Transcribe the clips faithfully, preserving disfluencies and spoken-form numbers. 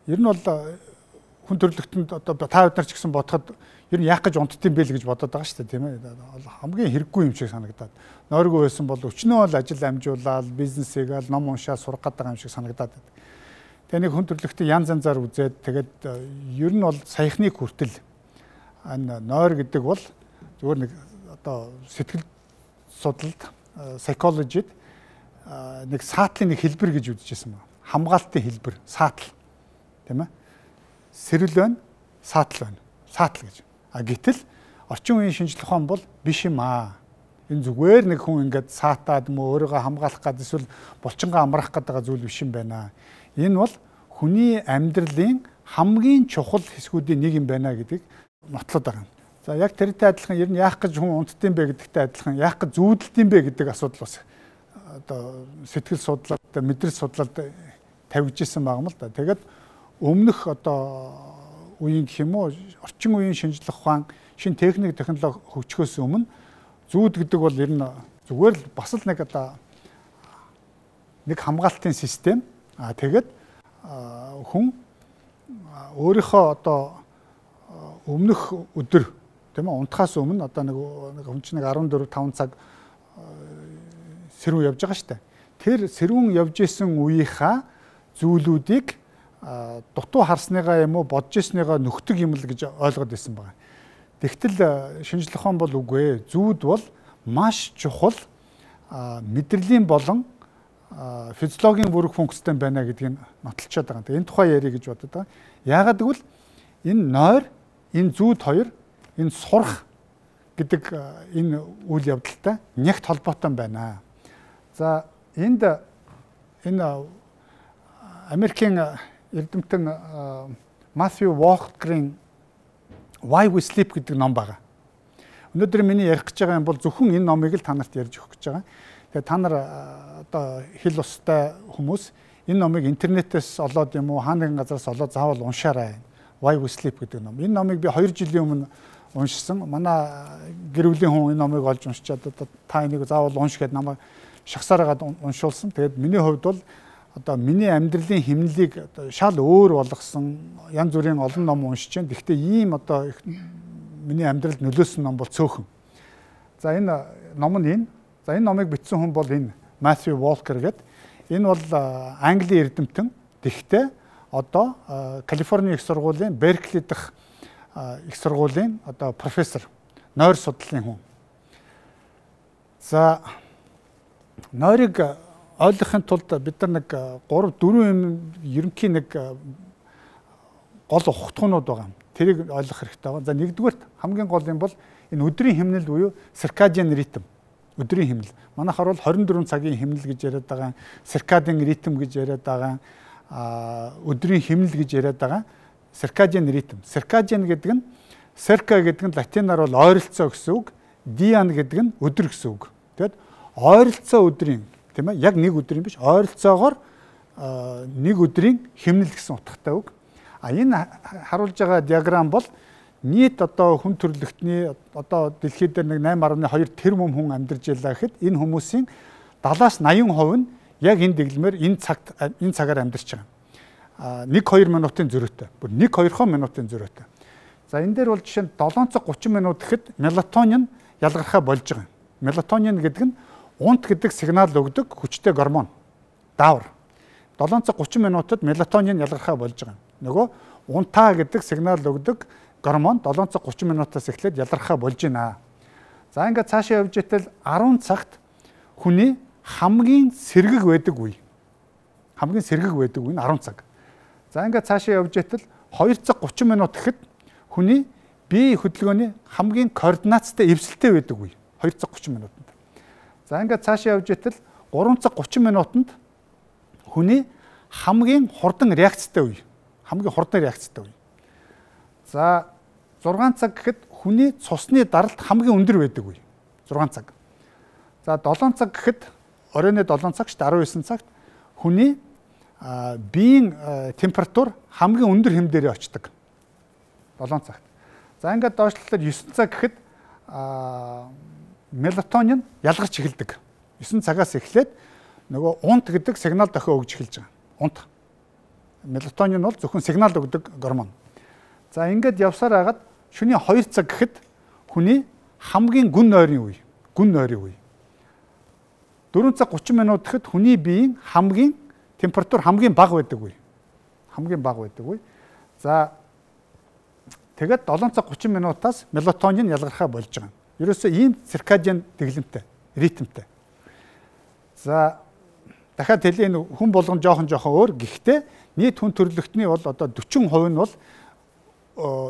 ер нь бол хүн төрөлхтөнд одоо та бид нар ч гэсэн бодоход ер нь яах гэж унтдсан бэ л гэж бодоод байгаа шүү дээ тийм ээ. Хамгийн хэрэггүй юм шиг санагдаад. Нойргүй байсан бол өчнөө л ажил амжуулаад, бизнесийг л ном уншаад сурах гэдэг юм шиг санагдаад. Тэгээ нэг хүн төрөлхтөнд янз янзаар үзээд тэгээд ер нь бол саяхныг хүртэл энэ нойр гэдэг бол зүгээр нэг одоо сэтгэл судлалд, psychology-д нэг саатлын нэг хэлбэр гэж үзэжсэн байна. Хамгаалтын хэлбэр, саатал. Тийм ээ. Сэрэл байна, саатал байна. Саатал гэж. А гэтэл орчин үеийн шинжлэх ухаан бол биш юм аа. Энэ зүгээр нэг хүн ингээд саатаад мө өөрийгөө хамгаалах гэдэг эсвэл булчингаа амраах гэдэг зүйл биш юм байна. Энэ бол хүний амьдралын хамгийн чухал хэсгүүдийн нэг юм байна гэдгийг нотлоод байгаа юм. За яг тэртэй адилхан ер нь яах гэж хүн унтдсан бэ гэдэгтэй адилхан яах гэж зүүдэлдэм бэ гэдэг асуудал бас одоо сэтгэл судлаад мэдрэл судлаад тавьж исэн байгаа юм л да. Тэгээд өмнөх одоо үеийн гэх юм уу орчин үеийн шинжлэх ухаан, шин техник технологи хөгжихөөс өмнө зүүд гэдэг бол ер нь зүгээр л бас л нэг одоо нэг хамгаалтын систем. А тэгээд хүн өөрийнхөө одоо өмнөх өдөр тийм ээ унтахаас өмнө одоо нэг хүн чинь нэг арван дөрөв таван цаг сэрүүн явж байгаа шүү дээ. Тэр сэрүүн явж исэн үеийнхаа зүйлүүдийг дутуу харсныгаа юм уу бодж ирсныгаа нөхдөг юм л гэж ойлгоод байсан байна. Тэгтэл шинжлэх ухаан бол үгүй ээ. Зүүд бол маш чухал мэдрэлийн болон физиологийн бүрэг функцтэй байна гэдгийг нотолцоод байгаа. Энэ тухай ярих гэж бодод байгаа. Яагаад гэвэл энэ нойр, энэ зүүд хоёр, энэ сурах гэдэг энэ үйл явдалтай нягт холбоотой байна. За энд энэ Америкийн эрдэмтэн Матthew Walker-ийн Why We Sleep гэдэг ном байгаа. Өнөөдөр миний ярих гэж байгаа юм бол зөвхөн энэ номыг л та нарт ярьж өгөх гэж байгаа. Тэгээ та нар одоо хэл устай хүмүүс энэ номыг интернетээс олоод юм уу хаана нэгэн газараас олоод заавал уншаарай. Why We Sleep гэдэг ном. Энэ номыг би хоёр жилийн өмнө уншсан. Манай гэр бүлийн хүн энэ номыг олж уншичаад одоо та энийг заавал унш гэд намайг шагсаараад уншуулсан. Тэгээд миний хувьд бол одоо миний амьдралын хэмнэлийг шал өөр болгосон янз бүрийн олон ном уншиж байна. Гэхдээ ийм одоо миний амьдралд нөлөөсөн ном бол цөөхөн. За энэ ном нь энэ. За энэ номыг бичсэн хүн бол энэ Matthew Walker гэдэг. Энэ бол Английн эрдэмтэн. Тэгэхдээ одоо Калифорни их сургуулийн Беркли дахь их сургуулийн одоо профессор, нойр судлалын хүн. За нойрыг ойлгохын тулд бид нар нэг гурав дөрвөн юм ерөнхий нэг гол ухтгуунууд байгаа. Тэрийг ойлгох хэрэгтэй байна. За нэгдүгээрт хамгийн гол юм бол энэ өдрийн хэмнэл буюу circadian rhythm. Өдрийн хэмнэл. Манайхаар бол хорин дөрвөн цагийн хэмнэл гэж яриад байгаа, circadian rhythm гэж яриад байгаа, өдрийн хэмнэл гэж яриад байгаа. Circadian rhythm. Circadian гэдэг нь circa гэдэг нь латинаар бол ойролцоо гэсэн үг, dian гэдэг нь өдөр гэсэн үг. Тэгэд ойролцоо өдрийн тийм ээ яг нэг өдрийн биш ойролцоогоор нэг өдрийн хэмнэл гэсэн утгатай үг. А энэ харуулж байгаа диаграм бол нийт одоо хүн төрөлхтний одоо дэлхийд дээр нэг найман гаруй хоёр тэрбум хүн амьдарч байлаа гэхэд энэ хүмүүсийн дагаалаас наян хувь нь яг энэ дэглэмээр энэ цагт энэ цагаар амьдарч байгаа. А нэг хоёр минутын зөрүүтэй. Бүр нэг хоёр минутын зөрүүтэй. За энэ дээр бол жишээ нь долоон цаг гучин минут гэхэд мелатонин ялгархаа болж байгаа. Мелатонин гэдэг нь унт гэдэг сигнал өгдөг хүчтэй гормон. Даавар. долоон цаг гучин минутад мелатонин ялгархаа болж байгаа. Нөгөө унтаа гэдэг сигнал өгдөг гормон долоон цаг гучин минутаас эхлээд ялгархаа болж байна. За ингээд цаашаа явж итэл арван цагт хүний хамгийн сэргэг байдаг үе. Хамгийн сэргэг байдаг үе нь арван цаг. За ингээд цаашаа явж итэл хоёр цаг гучин минут гэхэд хүний бие хөдөлгөөний хамгийн координацтай эвсэлтэй байдаг үе. хоёр цаг гучин минутанд. За ингээд цаашаа явж итэл гурван цаг гучин минутанд хүний хамгийн хурдан реакцтай үе. Хамгийн хурдан реакцтай үе. За зургаан цаг гэхэд хүний цусны даралт хамгийн өндөр байдаг үе. зургаан цаг. За долоон цаг гэхэд оройн долоон цаг шүү дээ арван девять цагт хүний биеийн температур хамгийн өндөр хэм дээрээ очдог. долоон цагт. За ингээд доошлолоор девять цаг гэхэд мелатонин ялгарч эхэлдэг. девять цагаас эхлээд нөгөө унт гэдэг сигнал дохио өгж эхэлж байгаа. Унт. Мелатонин бол зөвхөн сигнал өгдөг гормон. За ингээд явсаар хагаад шөнийн хоёр цаг гэхэд хүний хамгийн гүн нойрын үе, гүн нойрын үе. дөрвөн цаг гучин минут гэхэд хүний биеийн хамгийн температур хамгийн бага байдаг үе. Хамгийн бага байдаг үе. За тэгээд долоон цаг гучин минутаас мелатонин ялгархаа болж байгаа. Ерөөсөө ийм циркадиан дэглэмтэй, ритмтэй. За дахиад хэлээ энэ хүн болгон жоохон жоохон өөр. Гэхдээ нийт хүн төрөлхтний бол одоо дөрвөн хувь нь бол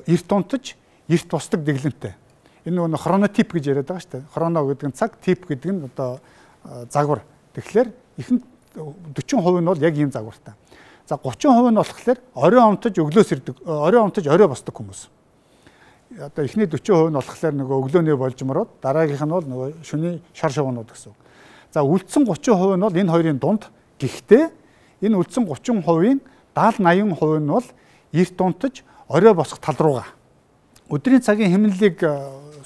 эрт унтаж, эрт босдог дэглэмтэй. Энэ нөгөө хронотип гэж яриад байгаа шүү дээ. Хроно гэдэг нь цаг, тип гэдэг нь одоо загвар. Тэгэхээр ихэнх дөрвөн хувь нь бол яг ийм загвартай. За гучин хувь нь болохоор орой унтаж өглөөс ирдэг, орой унтаж орой босдог хүмүүс. Одоо эхний дөрвөн хувь нь болохоор нөгөө өглөөний болжмороод, дараагийнх нь бол нөгөө шөнийн шар шувуунууд гэсэн. За үлдсэн гучин хувь нь бол энэ хоёрын дунд. Гэхдээ энэ үлдсэн гучин хувийн даатал наян хувь нь бол эрт унтаж орой босох тал руугаа. Өдрийн цагийн хэмнэлийг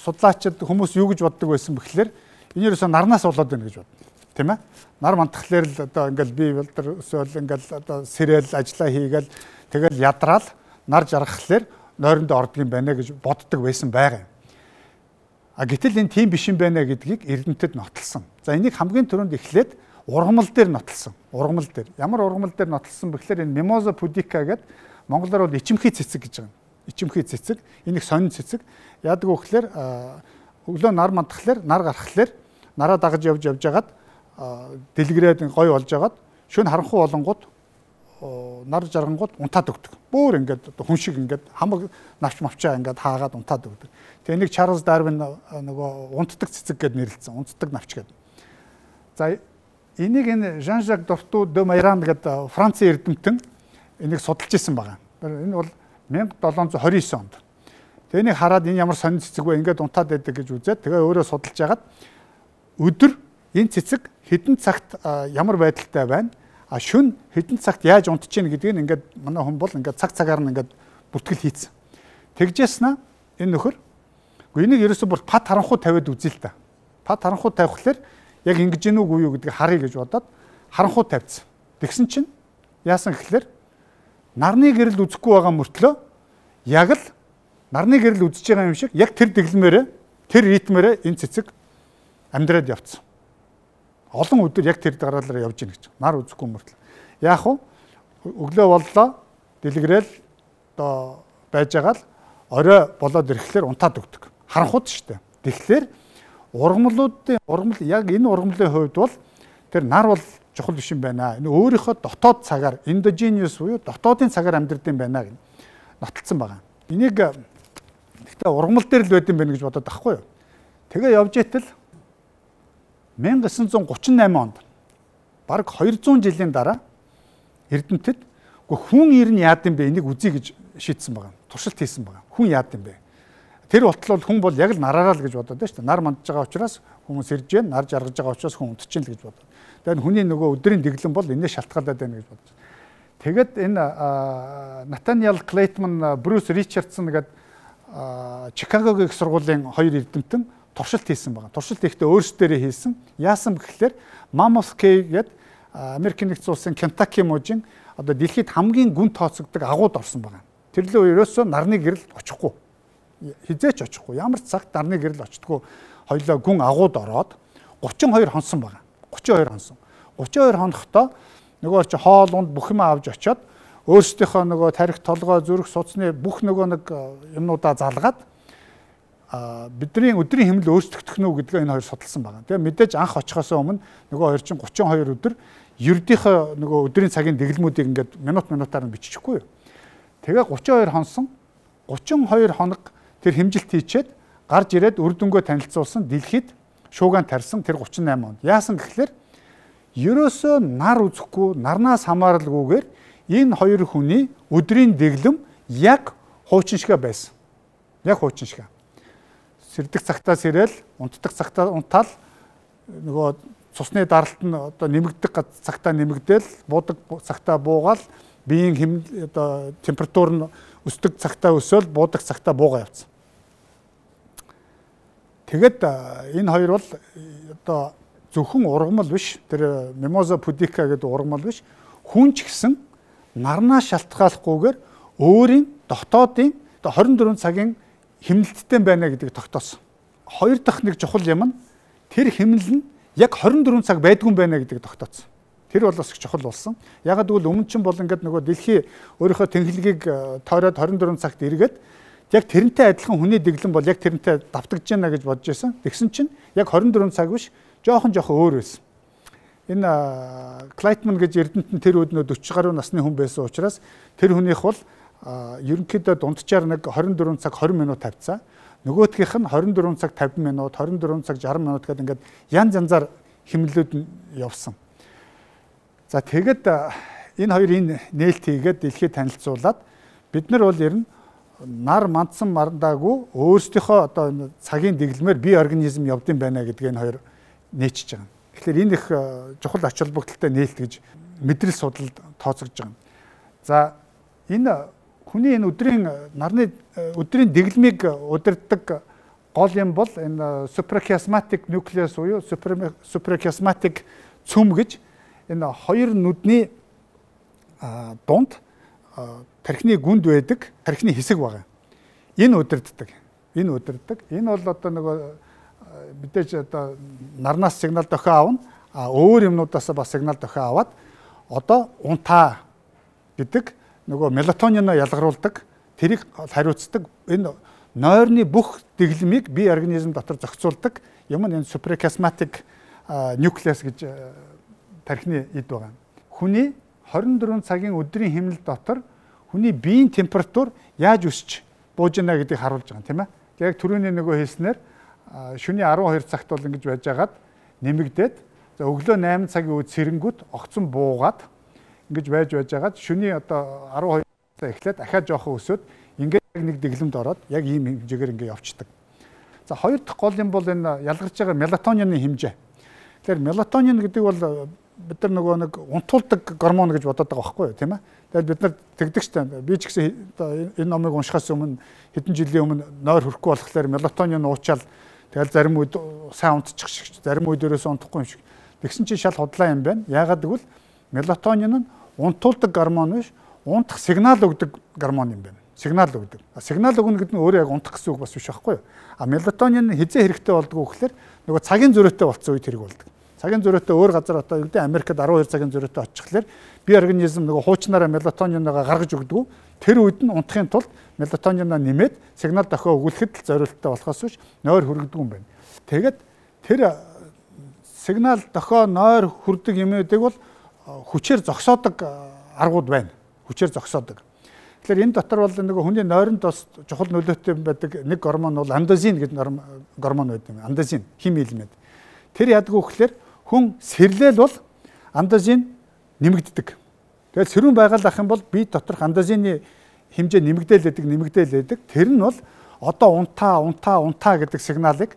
судлаачид хүмүүс юу гэж боддог байсан бэхлээр энэ ерөөсөө нарнаас болоод байна гэж бодно. Тийм ээ? Нар мантахлаар л одоо ингээл би болтер өсөөл ингээл одоо сэрэл ажиллаа хийгээл тэгэл ядраал нар жаргахлаар нойрондоо ордог юм байна гэж боддог байсан байгаа юм. А гэтэл энэ тийм биш юм байна гэдгийг эрдэмтэд нотолсон. За энийг хамгийн түрүүнд эхлээд ургамал дээр нотолсон. Ургамал дээр. Ямар ургамал дээр нотолсон бэхлээр энэ Mimosa pudica гэдэг монголоор бол ичимхий цэцэг гэж байгаа. Ичимхий цэцэг. Энийг сонин цэцэг. Яадаг вэ гэхээр өглөө нар мандахлаар нар гарахлаар нараа дагаж явж явж хагаад дэлгэрээд гой болж хагаад шөнө харанхуй болонгууд нар жаргангууд унтаад өгдөг. Бөөр ингээд хүн шиг ингээд хамаг навч мавчаа ингээд хаагаад унтаад өгдөг. Тэгээ энийг Чарлз Дарвин нөгөө унтдаг цэцэг гэд нэрлэсэн. Унтдаг навч гэд. За энийг энэ Жан-Жак Дорту де Майран гэдэг Францын эрдэмтэн энийг судалж исэн байгаа. Энэ бол мянга долоон зуун хорин девийн онд. Тэгээ энийг хараад энэ ямар сонин цэцэг вэ ингээд унтаад байдаг гэж үзээд тэгээ өөрөө судалж яагаад өдөр энэ цэцэг хэдэн цагт ямар байдалтай байна? А шүн хэдэн цагт яаж унтж ийн гэдгийг ингээд манай хүн бол ингээд цаг цагаар нь ингээд бүртгэл хийцэн. Тэгжээснэ энэ нөхөр үгүй энийг ерөөсөө бүр пат харанхуй тавиад үзээ л та. Пат харанхуй тавихлаар яг ингэж гинүү үгүй юу гэдгийг харъя гэж бодоод харанхуй тавьсан. Тэгсэн чинь яасан гэхэлэр нарны гэрэл үзэхгүй байгаа мөртлөө яг л нарны гэрэл үзэж байгаа юм шиг яг тэр дэглэмээрээ тэр ритмээрээ энэ цэцэг амьдраад явцсан. Олон өдөр яг тэр дараалал явж гин гэж. Нар үзэхгүй мөртлөө. Яах вэ? Өглөө боллоо, дэлгэрэл одоо байж байгаа л орой болоод ирэхлээр унтаад өгдөг. Харанхуйд шүү дээ. Тэгэхээр ургамлуудын ургамал яг энэ ургамлын хувьд бол тэр нар бол чухал биш юм байна. Энэ өөрийнхөө дотоод цагаар endogenous буюу дотоодын цагаар амьдрэх юм байна гэж нотолцсон байгаа. Энийг гэхдээ ургамал дээр л байд юм байна гэж бодоод байхгүй юу? Тэгээ явж итэл мянга девийн зуун гучин найман онд бараг хоёр зуун жилийн дараа эрдэмтэд хүн ер нь яад юм бэ энийг үзье гэж шийдсэн байгаа. Туршилт хийсэн байгаа. Хүн яад юм бэ? Тэр ботлол хүн бол яг л нараараа л гэж бодоод байна шүү дээ. Нар мандж байгаа учраас хүмүүс ирж байна, нар жаргаж байгаа учраас хүн унтчихин л гэж бодоод. Тэгээд хүний нөгөө өдрийн дэглэм бол энэс шалтгаалаад байна гэж бодож. Тэгэд энэ Натаниэл Клейтман, Брюс Ричардсон гэдэг Чикагогийн их сургуулийн хоёр эрдэмтэн туршилт хийсэн байгаа. Туршилт хийхдээ өөрсдөө хийсэн. Яасан гэхэлэр Mammoth Cave гэдэг Америкийн нэгдсэн улсын Кентаки мужийн одоо дэлхийд хамгийн гүн тооцогддог агууд орсон байгаа. Тэрлээ ерөөсөө нарны гэрэл очихгүй. Хизээч очихгүй. Ямар ч цагт нарны гэрэл очтгүй. Хоёлоо гүн агууд ороод гучин хоёр хонсон байгаа. гучин хоёр хонсон. гучин хоёр хонохдоо нөгөө чи хоол унд бүх юм авч очиод өөрсдийнхөө нөгөө тарих толгой зүрх судасны бүх нөгөө нэг юмнуудаа залгаад бидний өдрийн хэмнэл өөрчлөгдөх нь үү гэдгээ энэ хоёр судалсан байна. Тэгээ мэдээж анх очихоос өмнө нөгөө хоёр чинь гучин хоёр өдөр ердийнхөө нөгөө өдрийн цагийн дэглэмүүдийг ингээд минут минутаар нь биччихгүй юу. Тэгээ гучин хоёр хонсон гучин хоёр хоног тэр хэмжилт хийчээд гарч ирээд үр дүнгээ танилцуулсан дэлхийд шуугаан тарьсан тэр гучин найман онд. Яасан гэхэлэр ерөөсөө нар үзэхгүй нарнаас хамааралгүйгээр энэ хоёр хүний өдрийн дэглэм яг хуучин шигэ байсан. Яг хуучин шигэ. Сэрдэг цагтаа сэрэл, унтдаг цагтаа унтаал нөгөө цусны даралт нь одоо нэмэгдэх цагтаа нэмэгдээл, буудаг цагтаа буугаал, биеийн хэм одоо температур нь өсдөг цагтаа өсөөл, буудаг цагтаа буугаа явцсан. Тэгэд энэ хоёр бол одоо зөвхөн ургамал биш, тэр Mimosa pudica гэдэг ургамал биш, хүн ч гэсэн нарнаас шалтгааллахгүйгээр өөрийн дотоодын хорин дөрвөн цагийн хэмнэлттэй байна гэдгийг тогтоосон. Хоёр дахь нэг чухал юм нь тэр хэмнэл нь яг хорин дөрвөн цаг байдгүй байна гэдгийг тогтоосон. Тэр бол бас их чухал болсон. Ягаад гэвэл өмнө чинь бол ингээд нөгөө дэлхий өөрийнхөө тэнхлэгийг тойроод хорин дөрвөн цагт эргээд яг тэрнтэй адилхан хүний дэглэм бол яг тэрнтэй давтагдж байна гэж бодож байсан. Тэгсэн чинь яг хорин дөрвөн цаг биш, жоохон жоохон өөр байсан. Энэ Клайтман гэж Эрдэнэт нь тэр үед нөө forty гаруй насны хүн байсан учраас тэр хүнийх бол ерөнхийдөө дунджаар нэг хорин дөрвөн цаг twenty минут тавьцаа. Нөгөөхийнх нь хорин дөрвөн цаг fifty минут, хорин дөрвөн цаг sixty минут гэдэг ингээд янз янзаар хэмнэлүүд нь явсан. За тэгэд энэ хоёрын нээлт хийгээд дэлхийд танилцуулаад бид нар бол ер нь нар мандсан мандаагүй өөрсдийнхөө одоо цагийн дэглэмээр бие организм явдсан байна гэдгийг хоёр нээчиж байгаа. Тэгэхээр энэ их чухал ач холбогдолтой нээлт гэж мэдрэл судалд тооцогдож байгаа. За энэ хүний энэ өдрийн нарны өдрийн дэглэмийг удирддаг гол юм бол энэ suprachiasmatic nucleus буюу suprachiasmatic цөм гэж энэ хоёр нүдний дунд тархины гүнд байдаг тархины хэсэг байгаа. Энэ удирддаг. Энэ удирддаг. Энэ бол одоо нөгөө мэдээж одоо нарнаас сигнал дохио аавна, а өөр юмнуудаас бас сигнал дохио аваад одоо унтаа гэдэг нөгөө мелатонино ялгаруулдаг, тэрийг хариуцдаг энэ нойрны бүх дэглэмийг бие организм дотор зохицуулдаг юм нь энэ suprachiasmatic nucleus гэж тархины эд байгаа. Хүний twenty four цагийн өдрийн хэмнэл дотор хүний биеийн температур яаж өсч бууж байна гэдгийг харуулж байгаа юм тийм ээ. Яг түрүүний нөгөө хэлснээр шөнийн twelve цагт бол ингэж байж байгаад нэмэгдээд за өглөө eight цагийн үед сэрэнгүүд огцон буугаад ингэж байж байж байгаад шөнийн одоо twelve цаг эхлээд дахиад жоохон өсөөд ингээд нэг дэглэмд ороод яг ийм хэмжээгээр ингээд явцдаг. За хоёр дахь гол юм бол энэ ялгарч байгаа мелатонины хэмжээ. Тэгэхээр мелатонин гэдэг бол бид нар нөгөө нэг унтуулдаг гормон гэж бодоод байгаа байхгүй юу тийм ээ. Тэгэхээр бид нар тэгдэг штэ. Би ч гэсэн энэ номыг уншихаас өмнө хэдэн жилийн өмнө нойр хөрөхгүй болохоор мелатонин уучаал тэгэл зарим үед сайн унтчих шиг, зарим үед өрөөс унтахгүй юм шиг. Тэгсэн чинь шал худлаа юм байна. Яагаад гэвэл мелатонин нь унтуулдаг гормон биш, унтах сигнал өгдөг гормон юм байна. Сигнал өгдөг. Сигнал өгнө гэдэг нь өөрөө яг унтах гэсэн үг бас биш байхгүй юу? А мелатонин хизээ хэрэгтэй болдгоо гэхээр нөгөө цагийн зөрөөтэй болцсон үед хэрэг болдог. Цагийн зөрөөтэй өөр газар одоо юу гэдэг Америкт twelve цагийн зөрөөтэй очихлаар бие организм нөгөө хуучнаараа мелатониноогоо гаргаж өгдөг. Тэр үед нь унтахын тулд мелатониноо нэмээд сигнал дохио өгүүлэхэд зориулттай болохоос биш нойр хүргэдэг юм байна. Тэгээд тэр сигнал дохио нойр хүрдэг юмнуудыг бол хүчээр зогсоодог аргууд байна. Хүчээр зогсоодог. Тэгэхээр энэ дотор бол нөгөө хүний нойронд бас чухал нөлөөтэй байдаг нэг гормон бол андозин гэдэг гормон байдаг юм. Андозин хим элемент. Тэр яадаг вэ гэхээр хүн сэрлэл бол андозин нэмэгддэг. Тэгээд сэрүүн байгаль ах юм бол бие доторх андозины хэмжээ нэмэгдээл байдаг, нэмэгдээл байдаг. Тэр нь бол одоо унтаа, унтаа, унтаа гэдэг сигналыг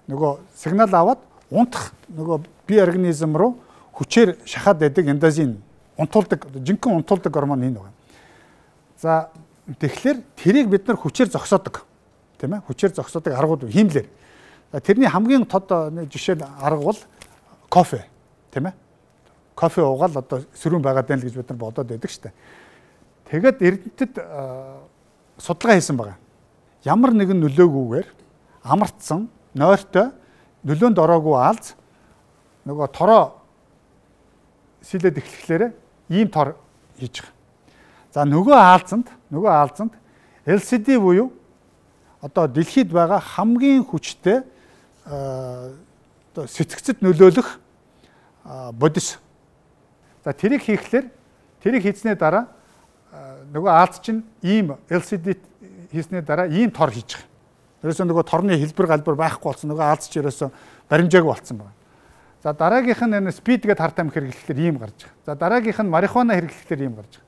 нөгөө сигнал аваад унтах нөгөө бие организм руу хүчээр шахаад байдаг андозин унтуулдаг, жинхэнэ унтуулдаг гормон энэ байна. За тэгэхээр тэрийг бид нар хүчээр зогсоодог. Тийм ээ? Хүчээр зогсоодог аргууд хиймлэр. Тэрний хамгийн тод жишээ арга бол кофе, тийм ээ? Кофе уугаал одоо сөрүүн байгаад байна л гэж бид нар бодоод байдаг шүү дээ. Тэгээд Эрдэнэтэд судалгаа хийсэн байгаа. Ямар нэгэн нөлөөгүйгээр амарцсан, нойртой, нөлөөнд ороогүй аалз нөгөө тороо сэлээд эхлэхлээр ийм тор хийж байгаа. За нөгөө аалзанд, нөгөө аалзанд эл си ди буюу одоо дэлхийд байгаа хамгийн хүчтэй одоо сэтгцэд нөлөөлөх бодис. За тэрийг хийхлээр тэрийг хийснээр дараа нөгөө аалз чинь ийм эл си ди хийснээр дараа ийм тор хийж байгаа. Ерөөсөө нөгөө торны хэлбэр галбар байхгүй болсон. Нөгөө аалз ч ерөөсөө баримжаагүй болсон байна. За дараагийнх нь энэ спид гэдэг харт амх хэрэглэхээр ийм гарч байгаа. За дараагийнх нь марихуана хэрэглэхээр ийм гарч байгаа.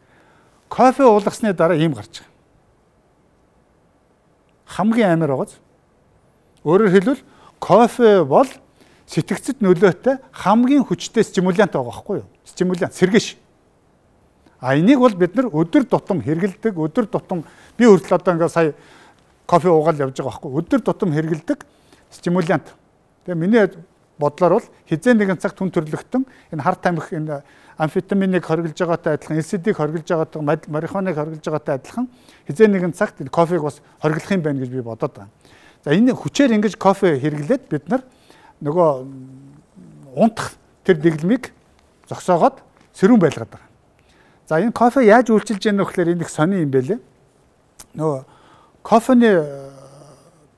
Кофе уулгасны дараа ийм гарч байгаа. Хамгийн амар байгааз. Өөрөөр хэлбэл кофе бол сэтгцэд нөлөөтэй хамгийн хүчтэй стимулянт байгаа байхгүй юу? Стимулянт, сэргээш. А энийг бол бид нар өдөр тутам хэрэглэдэг, өдөр тутам би хүртэл одоо ингээ сая кофе уугаал явж байгаа байхгүй юу? Өдөр тутам хэрэглэдэг стимулянт. Тэгээ миний бодлоор бол хизээ нэгэн цагт хүн төрлөختөн энэ харт тамхи энэ амфетаминыг хоригдж байгаатай адилхан, эл эс ди-г хоригдж байгаатай, марихуаныг хоригдж байгаатай адилхан хизээ нэгэн цагт кофег бас хоригдох юм байна гэж би бодоод байна. За энэ хүчээр ингэж кофе хэрэглээд бид нар нөгөө унтах тэр дэглэмийг зогсоогоод сэрүүн байлгаад байгаа. За энэ кофе яаж үйлчилж яах вэ гэхээр энэ их сони юм байлээ. Нөгөө кофений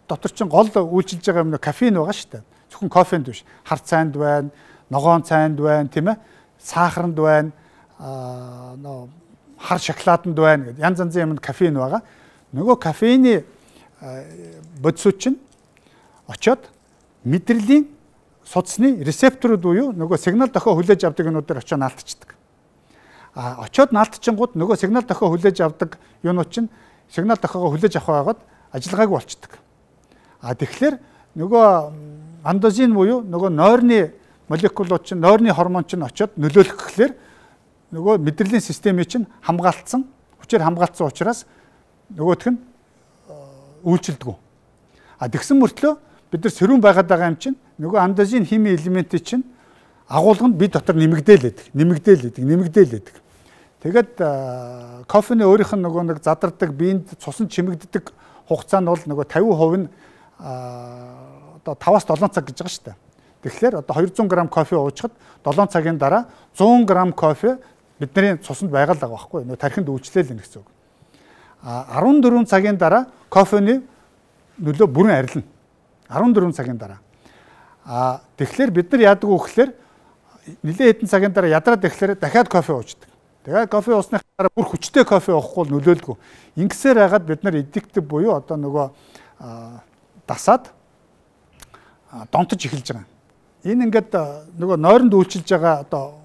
дотор чинь гол үйлчилж байгаа юм кофеин байгаа шүү дээ. Зөвхөн кофенд биш. Хар цайнд байна, ногоон цайнд байна, тийм ээ. Сахарнд байна, аа нөө хар шоколаданд байна гэдэг янз янзын юмд кофеин байгаа. Нөгөө кофеины бодисууд чинь очоод мэдрэлийн судасны рецепторууд буюу нөгөө сигнал дохио хүлээж авдаг юмнуудаар очоод наалтчихдаг. А очоод наалтчингууд нөгөө сигнал дохио хүлээж авдаг юмнууд чинь сигнал дохиогоо хүлээж авах байгаад ажиллагаагүй болчдөг. А тэгэхээр нөгөө андозин буюу нөгөө нойрны молекулууд чинь нойрны гормон чинь очоод нөлөөлөх гэхлээр нөгөө мэдрэлийн системийг чинь хамгаалцсан, хүчээр хамгаалцсан учраас нөгөөх нь үйлчилдэг. А тэгсэн мөртлөө бид нар сэрүүн байгаад байгаа юм чинь нөгөө андозин хими элементийн чинь агуулганд бие дотор нэмэгдээл байдаг, нэмэгдээл байдаг, нэмэгдээл байдаг. Тэгээд кофений өөрийнх нь нөгөө нэг задардаг, биеинд цусан чимэгддэг хугацаа нь бол нөгөө тавин хувь нь одоо таваас долоон цаг гэж байгаа шүү дээ. Тэгэхээр одоо хоёр зуун грамм кофе уучхад долоон цагийн дараа зуун грамм кофе бидний цуснд байгаа л байгаа байхгүй юу? Тархинд үйлчлээл нэ гэсэн үг. А арван дөрвөн цагийн дараа кофений нөлөө бүрэн арилна. арван дөрвөн цагийн дараа. А тэгэхээр бид нар яадаг вэ гэхээр нэлээд хэдэн цагийн дараа ядраад ирэхээр дахиад кофе уучдаг. Тэгээд кофе уусны дараа бүр хүчтэй кофе уухгүй нөлөөлдгөө. Ингэсээр хагаад бид нар эдиктив буюу одоо нөгөө дасаад донтож эхэлж байгаа. Энэ ингээд нөгөө нойронд үйлчилж байгаа одоо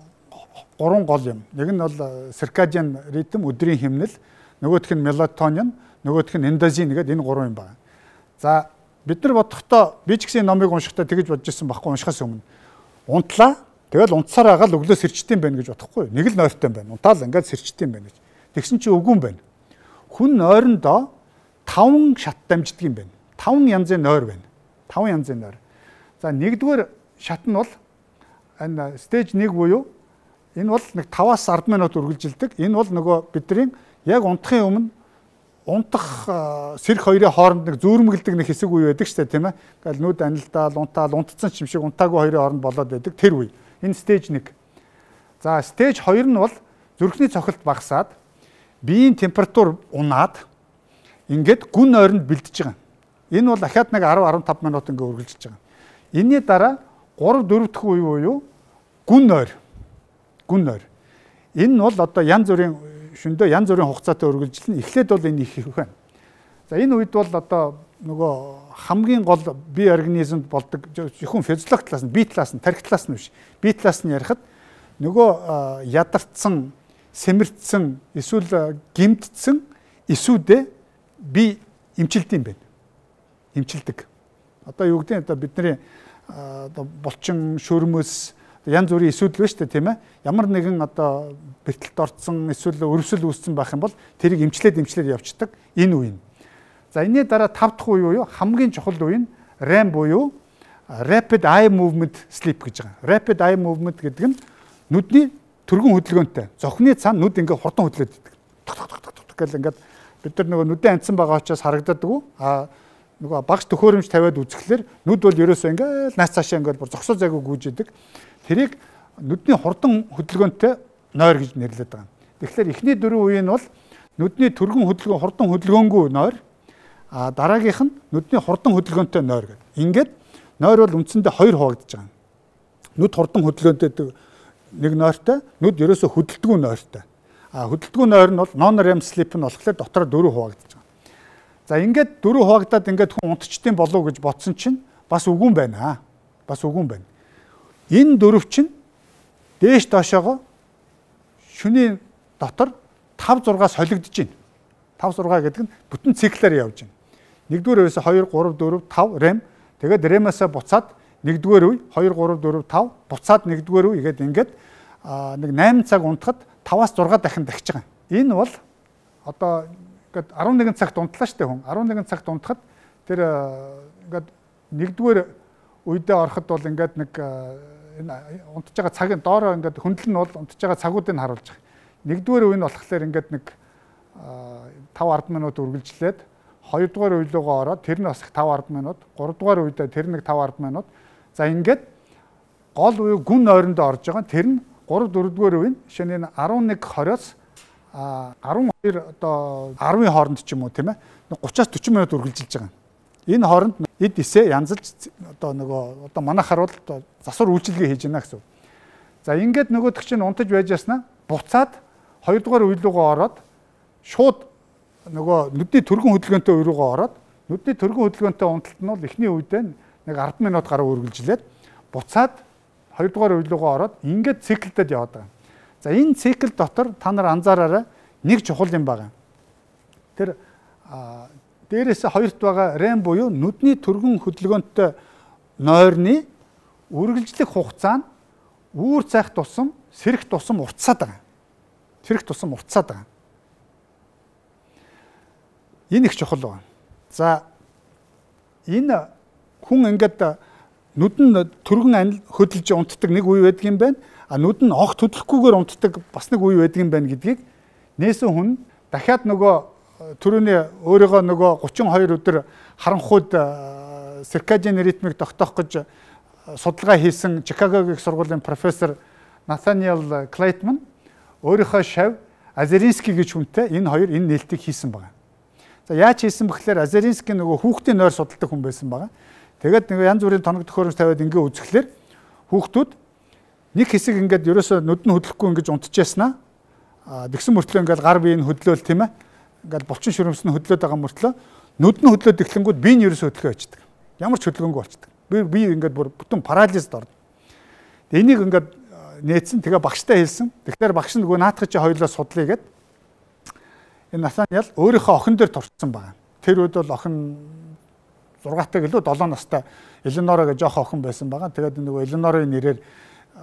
гурван гол юм. Нэг нь бол циркадиан ритм, өдрийн хэмнэл, нөгөөх нь мелатонин, нөгөөх нь эндозин гэдэг энэ гурван юм байна. За бид нар бодохдоо би ч гэсэн номыг уншихдаа тэгэж бодож ирсэн байхгүй уншихаас өмнө. Унтлаа. Тэгэл унтсаар агаал өглөө сэрчдэм байх гэж бодохгүй. Нэг л нойртой юм байна. Унтаал ингээд сэрчдэм байх гэж. Тэгсэн чи үгүй юм байна. Хүн нойрондоо таван шат дамждаг юм байна. таван янзын нойр байна. таван янзын нойр. За нэгдүгээр шат нь бол энэ стейж нэг буюу энэ бол нэг таваас ард минут үргэлжилдэг. Энэ бол нөгөө бидний яг унтахын өмнө унтах сэрх хоёрын хооронд нэг зүүрмгэлдэг нэг хэсэг үе байдаг шүү дээ, тийм ээ. Ингээл нүд анилдаал, унтаал, унтцсан ч юм шиг унтаагүй хоёрын хооронд болоод байдаг тэр үе. Энэ стейж нэг. За стейж хоёр нь бол зүрхний цохилт багасаад биеийн температур унаад ингээд гүн ойронд бэлдэж байгаа. Энэ бол дахиад нэг арав арван тав минут ингээд үргэлжилж байгаа. Энийний дараа гурав дөрөв дахь үе буюу гүн ойр. Гүн ойр. Энэ нь бол одоо янз бүрийн шөндөө янз бүрийн хугацаатай үргэлжилнэ. Эхлээд бол энэ их их байна. За энэ үед бол одоо нөгөө хамгийн гол бие организмд болдог зөвхөн физиологи талаас нь, бие талаас нь, тархи талаас нь биш. Бие талаас нь ярихад нөгөө ядарсан, сэмэрцсэн, эсвэл гэмтдсэн эсүүдээ би эмчилдэг юм байна. Эмчилдэг. Одоо юу гэдэг нь одоо бидний одоо булчин, шөрмөс, янз бүрийн эсүүд л байна шүү дээ, тийм ээ. Ямар нэгэн одоо бэртэлд орцсон, эсвэл өрөвсөл үүссэн байх юм бол тэрийг эмчлээд эмчлээд явцдаг энэ үе нь. За энэний дараа тав дахь үе буюу хамгийн чухал үе нь REM буюу Rapid Eye Movement Sleep гэж байгаа. Rapid Eye Movement гэдэг нь нүдний түргэн хөдөлгөөнтэй. Зохины цаана нүд ингээ хурдан хөдлөд идэг. Ток ток ток ток гэл ингээд бид нар нөгөө нүдэн анцсан байгаа учраас харагддаггүй. А нөгөө багш төхөөрөмж тавиад үзэхлээр нүд бол ерөөсөө ингээл наац цаашаа ингээд бүр зогсоо зайгүй гүйж идэг. Тэрийг нүдний хурдан хөдөлгөөнтэй нойр гэж нэрлэдэг байгаа. Тэгэхээр эхний дөрвөн үе нь бол нүдний түргэн хөдөлгөөн хурдан хөдөлгөөнгүй нойр. А дараагийнх нь нүдний хурдан хөдөлгөөнтэй нойр гэдэг. Ингээд нойр бол үндсэндээ хоёр хуваагдаж байгаа. Нүд хурдан хөдөлгөөнтэй нэг нойртой, нүд ерөөсөө хөдөлдөггүй нойртой. А хөдөлдөггүй нойр нь бол non-REM sleep нь болохоор дотроо дөрөв хуваагдаж байгаа. За ингээд дөрөв хуваагдаад ингээд хүн унтчтын болов гэж бодсон чинь бас үгүй юм байна. Бас үгүй юм байна. Энэ дөрөв чинь дээш доошоогоо шөнийн дотор тав зургаас солигдож байна. тав зургаа гэдэг нь бүтэн циклээр явж байна. Нэгдүгээр үеэс хоёр, гурав, дөрөв, тав REM. Тэгээд REM-аас буцаад нэгдүгээр үе хоёр, гурав, дөрөв, тав буцаад нэгдүгээр үе гэдэг ингээд нэг осем цаг унтахад таваас зургаа дахин дахиж байгаа. Энэ бол одоо ингээд арван нэгэн цагт унтлаа штэ хүн. арван нэгэн цагт унтахад тэр ингээд нэгдүгээр үедээ ороход бол ингээд нэг энэ унтж байгаа цагийн доороо ингээд хөндлөл нь бол унтж байгаа цагуудыг харуулж байгаа. Нэгдүгээр үе нь болохоор ингээд нэг таван ард минут үргэлжлээд хоёрдугаар үе рүүгээ ороод тэр нь бас таван ард минут, гуравдугаар үедээ тэр нэг таван ард минут. За ингээд гол үе гүн ойрондоо орж байгаа. Тэр нь гурав дөрөвдүгээр үе нь жишээ нь арван нэг хорioос арван хоёр одоо арвын хооронд ч юм уу тийм ээ гураваас дөрвөн минут үргэлжилж байгаа. Энэ хооронд эд эсээ янзалж одоо нөгөө одоо манайхаар бол засвар үйлчилгээ хийж байна гэсэн. За ингээд нөгөөдөг чинь унтаж байж яснаа буцаад хоёрдугаар үе рүүгээ ороод шууд нөгөө нүдний төргөн хөдөлгөөнтэй үе рүүгээ ороод нүдний төргөн хөдөлгөөнтэй унталт нь бол эхний үедээ нэг ард минут гаруй үргэлжлээд буцаад хоёрдугаар үе рүүгээ ороод ингээд циклдэд яваад байгаа. За энэ цикл дотор та нар анзаараарай нэг чухал юм байна. Тэр дээрээс хоёрт байгаа рем буюу нүдний төргөн хөдөлгөөнтэй нойрны үргэлжлэх хугацаа нь үүр цайх тусам сэрэх тусам уртсаад байгаа. Сэрэх тусам уртсаад байгаа. Энэ их чухал байна. За энэ хүн ингээд нүдэн төргөн хөдөлж унтдаг нэг үе байдаг юм байна. А нүд нь огт хөдлөхгүйгээр унтдаг бас нэг үе байдаг юм байна гэдгийг нээсэн хүн дахиад нөгөө түрүүний өөрийгөө нөгөө гучин хоёр өдөр харанхуйд циркадиан ритмийг тогтоох гэж судалгаа хийсэн Чикагогийн сургуулийн профессор Натаниэл Клейтман өөрийнхөө шав Азеринский гэж хүнтэй энэ хоёр энэ нээлтийг хийсэн байна. За яаж хийсэн бэхлээр Азеринский нөгөө хүүхдийн нойр судалдаг хүн байсан байна. Тэгээд нөгөө янз бүрийн тоног төхөөрөмж тавиад ингээ үзэхлээр хүүхдүүд нэг хэсэг ингээд ерөөсөө нүд нь хөдлөхгүй ингэж унтчихсан аа. Тэгсэн мөртлөө ингээд гар биеийг хөдлөөл тийм ээ. Ингээд булчин шүрмс нь хөдлөөд байгаа мөртлөө нүд нь хөдлөөд эхлэнгүүд бие нь ерөөсөө хөдлөхөө очдөг. Ямар ч хөдөлгөөнгүй болчдөг. Би би ингээд бүр бүтэн парализд орно. Тэгээ энийг ингээд нээсэн тэгээ багштай хэлсэн. Тэгэхээр багш нь нөгөө наатах чи хоёулаа судлаа гэд энэ Натаниэл өөрийнхөө охин дээр турцсан байгаа. Тэр үед бол охин зургаатай гэлөө долоо настай Элинора гэж жоох охин байсан байгаа. Тэгээд нөгөө Элинорын нэрээр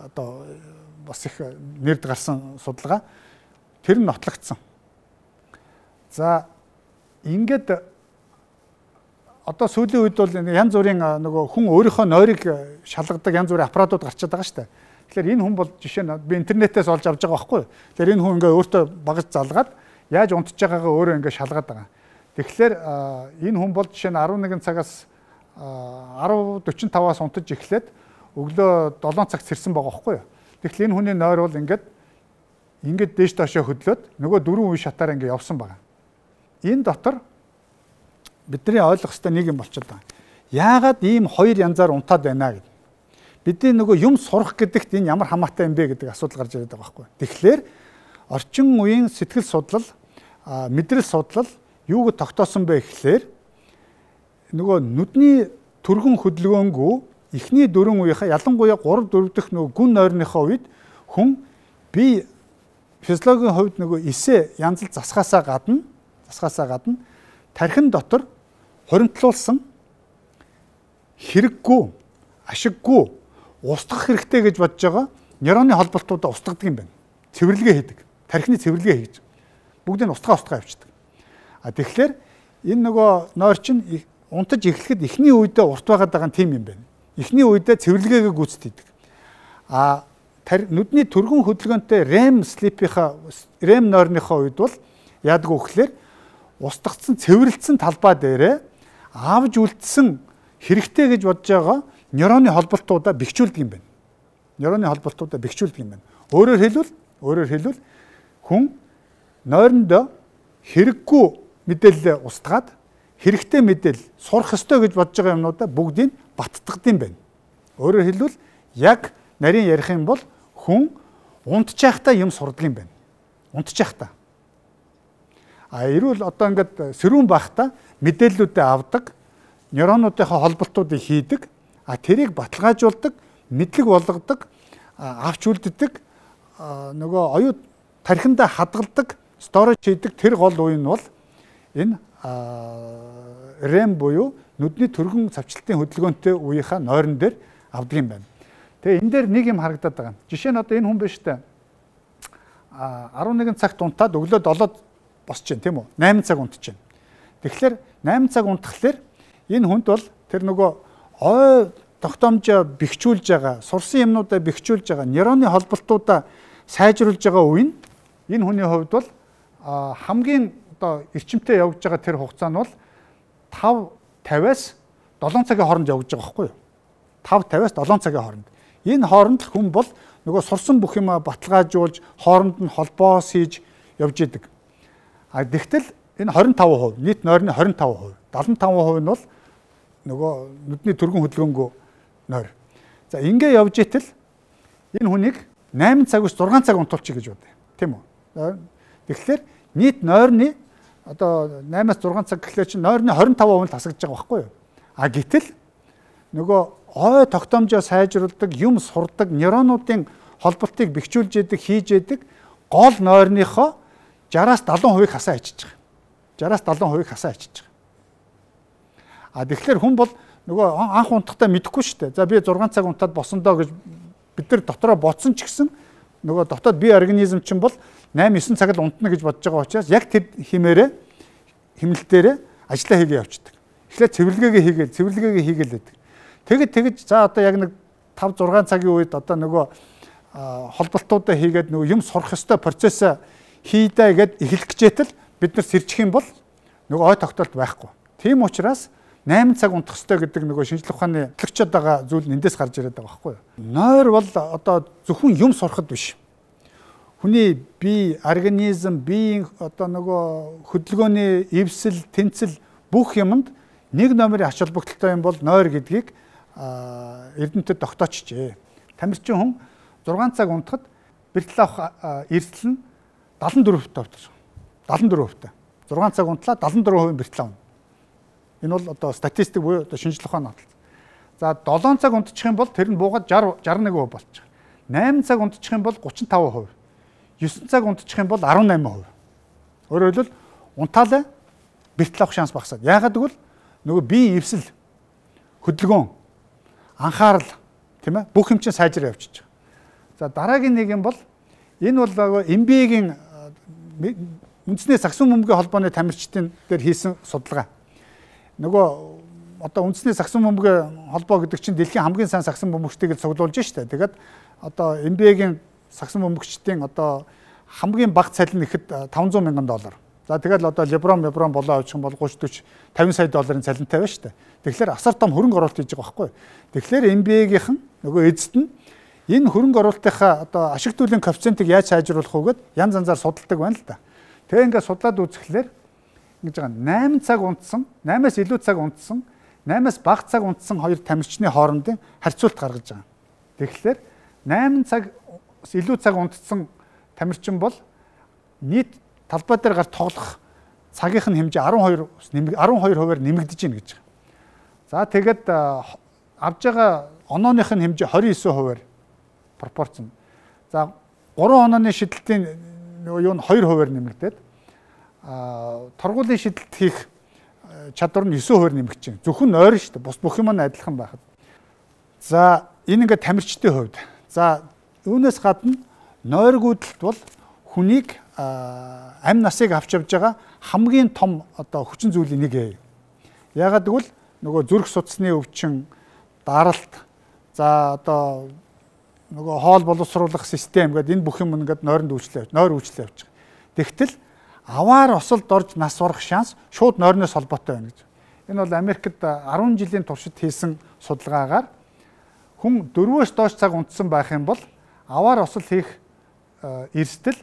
одоо бас их нэрд гарсан судалгаа тэр нь нотлогдсон. За ингээд одоо сүүлийн үед бол янз бүрийн нөгөө хүн өөрийнхөө нойрыг шалгадаг янз бүрийн аппаратууд гарчаад байгаа шүү дээ. Тэгэхээр энэ хүн бол жишээ нь би интернетээс олж авч байгаа байхгүй юу. Тэгэхээр энэ хүн ингээ өөртөө багаж залгаад яаж унтж байгаагаа өөрөө ингээ шалгаад байгаа. Тэгэхээр энэ хүн бол жишээ нь арван нэгэн цагаас арав дөрвөн таваас унтаж эхлээд өглөө долоон цагт сэрсэн байгаа байхгүй юу. Тэгэхээр энэ хүний нойр бол ингээд ингээд дээш доошоо хөдлөөд нөгөө дөрвөн үе шатаар ингээд явсан байгаа. Энэ дотор бидний ойлгох ёстой нэг юм болчиход байгаа. Яагаад ийм хоёр янзаар унтаад байна гэдэг. Бидний нөгөө юм сурах гэдэгт энэ ямар хамаатай юм бэ гэдэг асуудал гарч ирээд байгаа байхгүй. Тэгэхээр орчин үеийн сэтгэл судлал, мэдрэл судлал юуг тогтоосон бэ гэхлээр нөгөө нүдний төргөн хөдөлгөөнгөө эхний дөрвөн үеийнхаа ялангуяа гурав дөрөв дэх нөгөө гүн нойрныхоо үед хүн бие физиологийн хувьд нөгөө эсээ янзал засгаасаа гадна засгаасаа гадна тархин дотор хуримтлуулсан хэрэггүй, ашиггүй, устгах хэрэгтэй гэж бодож байгаа нейроны холболтуудаа устгадаг юм байна. Цэвэрлэгээ хийдэг. Тархины цэвэрлэгээ хийж. Бүгдийг нь устгаа устгаа явчихдаг. А тэгэхээр энэ нөгөө нойр чинь унтаж эхлэхэд эхний үедээ урт байгаад байгаа нь тийм юм байна. Эхний үедээ цэвэрлэгээгээ гүйцэтгэдэг. А нүдний төргөн хөдөлгөөнтэй рем слипийнхаа рем нойрныхоо үед бол яадаг вэ гэхээр устгацсан цэвэрлэлсэн талбай дээрээ авж үлдсэн хэрэгтэй гэж бодож байгаа нейроны холболтуудаа бэхжүүлдэг юм байна. Нейроны холболтуудаа бэхжүүлдэг юм байна. Өөрөөр хэлбэл өөрөөр хэлбэл хүн нойрондоо хэрэггүй мэдээлэл устгаад хэрэгтэй мэдээлэл сурах ёстой гэж бодож байгаа юмнуудаа бүгдийг баттгад юм байна. Өөрөөр хэлбэл яг нарийн ярих юм бол хүн унтчихтаа юм сурдаг юм байна. Унтчихтаа. А эрүүл одоо ингээд сэрүүн байхдаа мэдээллүүдээ авдаг, нейронуудынхаа холболтуудыг хийдэг, а тэрийг баталгаажуулдаг, мэдлэг болгодог, авч үлддэг, нөгөө оюут тархиндаа хадгалдаг, сторож хийдэг тэр гол үе нь бол энэ рем буюу нүдний төргөн цавчлалтын хөдөлгөөнтэй үеийнхаа нойрон дээр авдаг юм байна. Тэгээ энэ дээр нэг юм харагдаад байгаа. Жишээ нь одоо энэ хүн биш үү? арван нэгэн цагт унтаад өглөө долоод босч जैन тийм үү? найман цаг унтж जैन. Тэгэхээр найман цаг унтахлаар энэ хүнд бол тэр нөгөө ой тогтоомжоо бэхжүүлж байгаа, сурсан юмнуудаа бэхжүүлж байгаа, нейроны холболтуудаа сайжруулж байгаа үе нь энэ хүний хувьд бол хамгийн одоо эрчимтэй явж байгаа тэр хугацаа нь бол тав тавиас долоон цагийн хооронд явж байгаа байхгүй юу? тав тавиас долоон цагийн хооронд. Энэ хооронд л хүн бол нөгөө сурсан бүх юм баталгаажуулж, хооронд нь холбоос хийж явж идэг. А тэгтэл энэ двадцать и пять перцент нийт нойрны двадцать и пять перцент, seventy-five percent нь бол нөгөө нүдний түргэн хөдөлгөөнгөө нойр. За ингээ явж итэл энэ хүнийг eight цаг биш six цаг унтуулчих гэж бодъё. Тийм үү? Тэгэхээр нийт нойрны одоо eight-аас six цаг гэхлээр чинь нойрны twenty-five percent тасагдж байгаа байхгүй юу? А гэтэл нөгөө ой тогтоомжоо сайжруулдаг, юм сурдаг, нейронуудын холболтыг бэхжүүлж яадаг, хийж яадаг гол нойрныхоо sixty-аас seventy percent хасаа ичиж байгаа. sixty-аас seventy percent хасаа ичиж байгаа. А тэгэхээр хүн бол нөгөө анх унтахтаа мэдэхгүй шүү дээ. За би six цаг унтаад босондоо гэж бид нар дотроо бодсон ч гэсэн нөгөө дотоод бие организм чинь бол eight-nine цаг л унтна гэж бодож байгаа учраас яг тэр химээрээ химнэлтээрээ ажиллаа хийгээ явчихдаг. Эхлээд цэвэрлэгээгээ хийгээл, цэвэрлэгээгээ хийгээл байдаг. Тэгэд тэгэж за одоо яг нэг five six цагийн үед одоо нөгөө холболтуудаа хийгээд нөгөө юм сурах ёстой процессаа хийдэ гэд эхлэх гэжээтэл бид нар сэрчих юм бол нөгөө ой тогтоолт байхгүй. Тийм учраас eight цаг унтах ёстой гэдэг нөгөө шинжлэх ухааны төлөвчөд байгаа зүйл нь эндээс гарч ирээд байгаа байхгүй юу? Нойр бол одоо зөвхөн юм сурахад биш. Хүний бие, организм, биеийн одоо нөгөө хөдөлгөөний эвсэл, тэнцэл бүх юмд нэг номерын ач холбогдолтой юм бол нойр гэдгийг эрдэмтэд тогтоочжээ. Тамирчин хүн six цаг унтахад бэртэл авах эрсдэл нь seventy-four percent seventy-four percent. six цаг унтлаа seventy-four percent бэртэл авна. Энэ бол одоо статистик буюу одоо шинжлэх ухааны батал. За seven цаг унтчих юм бол тэр нь буугаад sixty sixty-one percent болчих. eight цаг унтчих юм бол thirty-five percent. nine цаг унтчих юм бол eighteen percent. Өөрөөр хэлбэл унтаалаа бэртэл авах шанс багасаад. Яагаад гэвэл нөгөө бие эвсэл, хөдөлгөөн, анхаарал тийм ээ бүх юм чинь сайжраа явчихж байгаа. За дараагийн нэг юм бол энэ бол эм би эй-гийн үндэсний сагсан бөмбөгийн холбооны тамирчдын дээр хийсэн судалгаа. Нөгөө одоо үндэсний сагсан бөмбөгийн холбоо гэдэг чинь дэлхийн хамгийн сайн сагсан бөмбөгчдийг цуглуулж штэ. Тэгээд одоо эм би эй-гийн сагсан бөмбөгчдийн одоо хамгийн бага цалин ихэд five hundred мянган доллар. За тэгэл одоо леброн леброн болоо авчих юм бол thirty forty fifty сая долларын цалинтай байна шүү дээ. Тэгэхээр асар том хөрөнгө оруулалт хийж байгаа байхгүй. Тэгэхээр эм би эй-гийнхэн нөгөө эзэд нь энэ хөрөнгө оруулалтынхаа одоо ашиг төлөвийн коэффициентийг яаж сайжруулах вэ гэд янз янзаар судалдаг байна л да. Тэгээ ингээд судлаад үзэхлээр ингэж байгаа eight цаг унтсан, eight-аас илүү цаг унтсан, eight-аас бага цаг унтсан хоёр тамирчны хоорондын харьцуулт гаргаж байгаа. Тэгэхээр eight цаг илүү цаг унтсан тамирчин бол нийт талбай дээр гарч тоглох цагийнх нь хэмжээ twelve twelve хувиар нэмэгдэж байна гэж. За тэгээд авж байгаа онооных нь хэмжээ twenty-nine хувиар пропорцн. За three онооны шидэлтийн юу нь two хувиар нэмэгдээд а торгуулийн шидэлт хийх чадвар нь nine хувиар нэмэгдэж байна. Зөвхөн нойр шүү дээ. Бус бүх юм нь адилхан байхад. За энэ ингээд тамирчдын хувьд. За үүнээс гадна нойргүйдэлт бол хүнийг амь насыг авч явж байгаа хамгийн том одоо хүчин зүйлийн нэг ээ. Яагаад гэвэл нөгөө зүрх судасны өвчин, даралт, за одоо нөгөө хоол боловсруулах систем гэдэг энэ бүх юм ингээд нойронд үйлчлээ, нойр үйлчлээ явж байгаа. Тэгтэл аваар осолд орж нас барах шанс шууд нойрноос холбоотой байна гэж. Энэ бол Америкт ten жилийн туршид хийсэн судалгаагаар хүн four-өөс доош цаг унтсан байх юм бол аваар осол хийх эрсдэл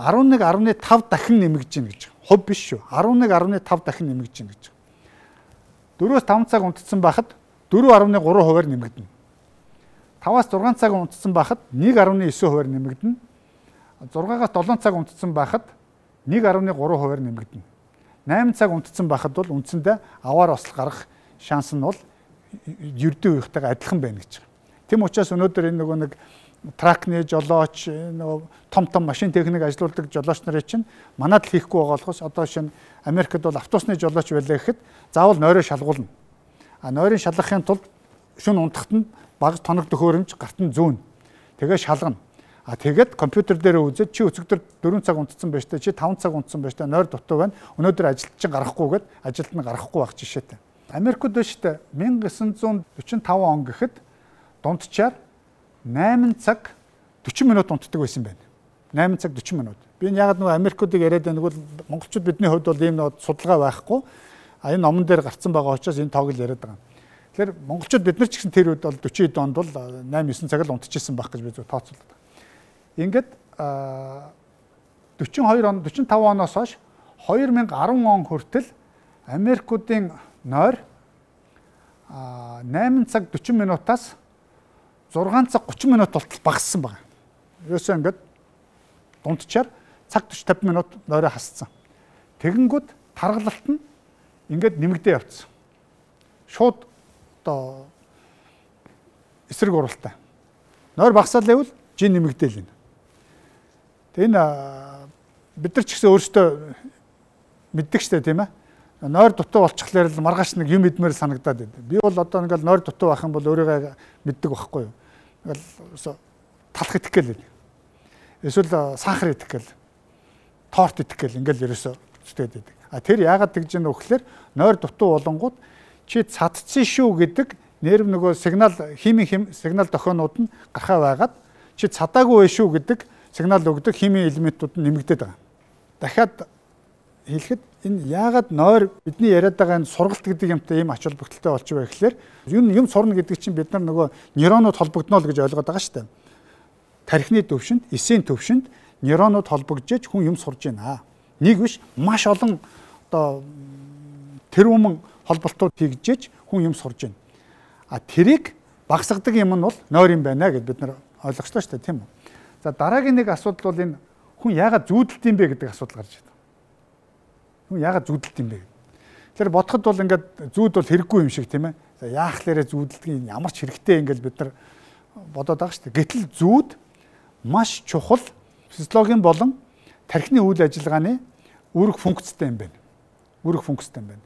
eleven point five дахин нэмэгдэж байна гэж. Хувь биш шүү. eleven point five дахин нэмэгдэж байна гэж. four-өөс five цаг унтсан байхад four point three хувиар нэмэгдэнэ. five-аас six цаг унтсан байхад one point nine хувиар нэмэгдэнэ. six-аас seven цаг унтсан байхад one point three хувиар нэмэгдэнэ. eight цаг унтсан байхад бол үндсэндээ аваар осол гарах шанс нь бол ердөө үеийнхтэйгээ адилхан байна гэж. Тэм учраас өнөөдөр энэ нөгөө нэг тракны жолооч, нөгөө том том машин техник ажилуулдаг жолооч нарын чинь манад л хийхгүй байгаа болохоос одоо шинэ Америкт бол автобусны жолооч байлаа гэхэд заавал нойроо шалгуулна. А нойрын шалгахын тулд шөнө унтахт нь баг тоног төхөөрөмж гарт нь зүүн. Тэгээ шалгана. А тэгээд компьютер дээр үзээд чи өцөгдөр four цаг унтсан байж та чи five цаг унтсан байж та нойр дутуу байна. Өнөөдөр ажилт чинь гарахгүйгээд ажилд нь гарахгүй байх жишээтэй. Америкт биш үү мянга девятьсот сорок пять он гэхэд дунджаар найман цаг сорок минут унтдаг байсан байна. найман цаг сорок минут. Би яг нөгөө Америкуудыг яриад байна бол монголчууд бидний хувьд бол ийм нэг судалгаа байхгүй. А энэ номон дээр гарцсан байгаа учраас энэ тоог л яриад байгаа. Тэгэхээр монголчууд бид нар ч гэсэн тэр үед бол сорок хэд онд бол найман девять цаг л унтчихсан байх гэж би зөв тооцоолдог. Ингээд сорок хоёр он сорок пять оноос хойш две тысячи десять он хүртэл Америкуудын нойр найман цаг сорок минутаас шесть цаг тридцать минут болтол багассан байна. Ерөөсөө ингээд дунджаар цаг түвш пятьдесят минут нойроо хасцсан. Тэгэнгүүт таргалалт нь ингээд нэмэгдээ явцсан. Шууд одоо эсрэг уралтай. Нойр багасаал байвал жин нэмэгдээл байна. Тэгээ энэ бид нар ч гэсэн өөрсдөө мэддэг штэ тийм ээ. Нойр дутуу болчихлоор л маргааш нэг юм идмээр санагдаад байд. Би бол одоо ингээл нойр дутуу байх юм бол өөрийгөө мэддэг байхгүй юу. Ингээл талах идэх гээл. Эсвэл сахар идэх гээл. Торт идэх гээл ингээл ерөөсөө зүтгээд байдаг. А тэр яагаад тэгж яана вэ гэхээр нойр дутуу болонгууд чи цадцсан шүү гэдэг нерв нөгөө сигнал химийн сигнал дохионууд нь гарахаа байгаад чи цадаагүй байх шүү гэдэг сигнал өгдөг химийн элементүүд нь нэмэгдээд байгаа. Дахиад хэлэхэд энэ яагаад нойр бидний яриад байгаа энэ сургалт гэдэг юмтай ийм ач холбогдолтой болчих вэ гэхээр юм юм сурна гэдэг чинь бид нар нөгөө нейронууд холбогдно л гэж ойлгоод байгаа шүү дээ. Тархины төвшөнд, эсийн төвшөнд нейронууд холбогдож хүн юм сурж байна. Нэг биш маш олон одоо тэрүүмэн холболтууд хийгдэж хүн юм сурж байна. А тэрийг багасгадаг юм нь бол нойр юм байна гэд бид нар ойлгочлоо шүү дээ, тийм үү? За дараагийн нэг асуудал бол энэ хүн яагаад зүүдэлт юм бэ гэдэг асуудал гарч байна. Хүн яагаад зүүдэлт юм бэ? Тэгэхээр бодоход бол ингээд зүүд бол хэрэггүй юм шиг тийм ээ. За яах лээрэ зүүдэлтийн ямар ч хэрэгтэй ингээд бид нар бодоод байгаа шүү дээ. Гэтэл зүүд маш чухал физиологийн болон тархины үйл ажиллагааны үүрэг функцтэй юм байна. Үүрэг функцтэй юм байна.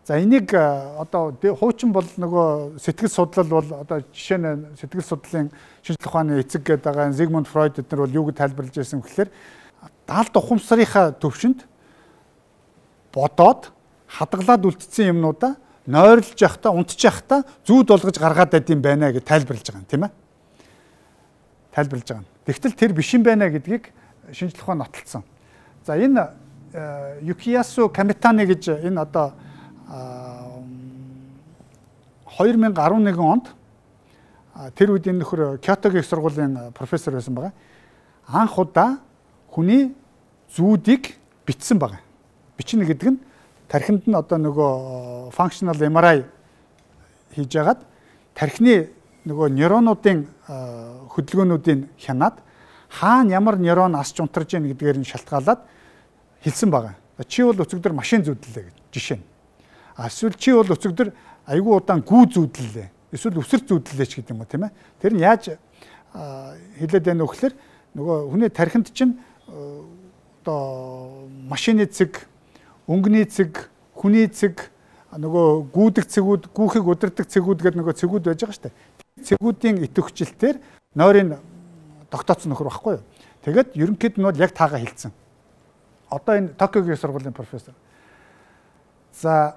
За энийг одоо хуучин бол нөгөө сэтгэл судлал бол одоо жишээ нь сэтгэл судлалын шинжлэх ухааны эцэг гэдэг байгаа Зигмунд Фройд эднэр бол юу гэж тайлбарлаж байсан гэхээр даалд ухамсарынхаа төвшөнд бодоод хадгалаад үлдсэн юмнуудаа нойрлж явахдаа унтж явахдаа зүүд болгож гаргаад байд юм байна гэж тайлбарлаж байгаа юм тийм ээ. Тайлбарлаж байгаа. Тэгтэл тэр биш юм байна гэдгийг шинжлэх ухаан нотолцсон. За энэ Юкиясу Камитани гэж энэ одоо две тысячи одиннадцать онд тэр үед энэ нөхөр Кётогийн их сургуулийн профессор байсан байгаа. Анх удаа хүний зүүдийг бичсэн байгаа. Бичнэ гэдэг нь тархинд нь одоо нөгөө functional эм ар ай хийж ягаад тархины нөгөө нейронуудын хөдөлгөөнүүдийг хянаад хаана ямар нейрон асч унтарч яах гэдгээр нь шалтгаалаад хэлсэн байгаа. Чи бол өцөгдөр машин зүүдлээ гэж жишээ нь. А эсвэл чи бол өцөгдөр айгүй удаан гүү зүүдлээ. Эсвэл өсөр зүүдлээ ч гэдэг юм уу тийм ээ. Тэр нь яаж хэлээд байна вэ гэхээр нөгөө хүний тархинд чинь одоо машины цэг, өнгөний цэг, хүний цэг, нөгөө гүйдэг цэгүүд, гүүхийг удирдаг цэгүүд гэдэг нөгөө цэгүүд байж байгаа шүү дээ. Цэгүүдийн идэвхжлэлтээр нойрын тогтооцсон нөхөр байхгүй юу. Тэгээд ерөнхийд нь бол яг таагаа хэлсэн. Одоо энэ Токиогийн сургуулийн профессор. За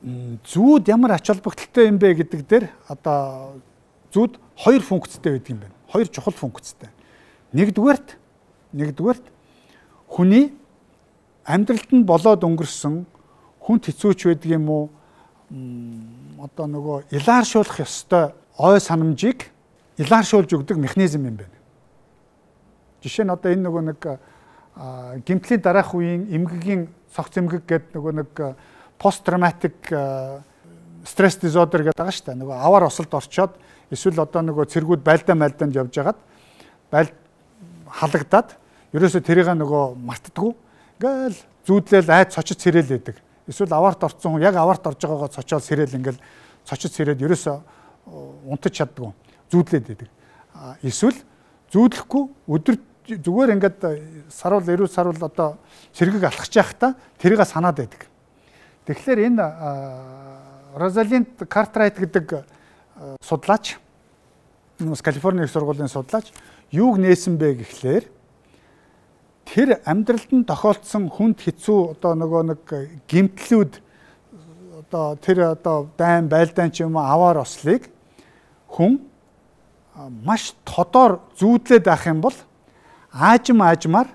зүүд ямар ач холбогдолтой юм бэ гэдэг дээр одоо зүүд хоёр функцтэй байдаг юм байна. Хоёр чухал функцтэй. Нэгдүгээрт нэгдүгээрт хүний амьдралд нь болоод өнгөрсөн хүнд хэцүүч байдаг юм уу? Одоо нөгөө илааршуулах ёстой ой санамжийг илааршуулж өгдөг механизм юм байна. Жишээ нь одоо энэ нөгөө нэг гэмтлийн дараах үеийн эмгэгийн цогц эмгэг гэдэг нөгөө нэг пост травматик стресс дизордер гэдэг байгаа шүү дээ. Нөгөө аваар осолд орчоод эсвэл одоо нөгөө цэргүүд байлдаа мальдаанд явж хагаад баль халагдаад ерөөсө тэрийг нөгөө мартдаггүй. Ингээл зүүдлэл айд цочид сэрэл байдаг. Эсвэл аваарт орсон хүн яг аваарт орж байгаагаа цочоод сэрэл ингээл цочид сэрээд ерөөсө унтаж чаддгүй. Зүүдлээд байдаг. Эсвэл зүүдлэхгүй өдөр зүгээр ингээд сарвал эрүүл сарвал одоо цэргийг алхаж явахдаа тэрийг санаад байдаг. Тэгэхээр энэ Розалинд Картрайт гэдэг судлаач бас Калифорни их сургуулийн судлаач юуг нээсэн бэ гэхлээр тэр амьдралд нь тохиолдсон хүнд хэцүү одоо нөгөө нэг гэмтлүүд одоо тэр одоо дайн байлдаан ч юм уу аваар ослыг хүн маш тодор зүүдлээд авах юм бол аажим аажмаар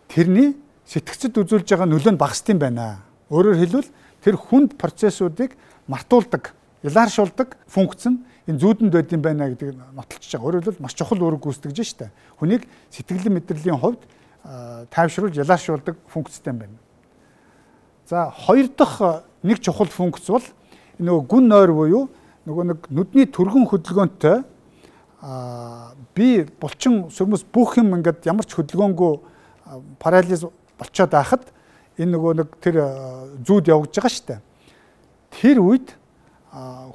тэрний сэтгцэд үзүүлж байгаа нөлөө нь багасд юм байна. Өөрөөр хэлбэл тэр хүнд процессуудыг мартуулдаг, илааршуулдаг функц нь энэ зүүдэнд байд юм байна гэдэг нотолчж байгаа. Өөрөөр хэлбэл маш чухал үүрэг гүйцэтгэж штэ. Хүнийг сэтгэлэн мэдрэлийн хувьд тайвшруулж ялааршуулдаг функцтэй юм байна. За хоёр дахь нэг чухал функц бол нөгөө гүн нойр буюу нөгөө нэг нүдний түргэн хөдөлгөөнтэй би булчин сүрмэс бүх юм ингээд ямар ч хөдөлгөөнгүй парализ болчиход байхад энэ нөгөө нэг тэр зүүд явагдаж байгаа штэ. Тэр үед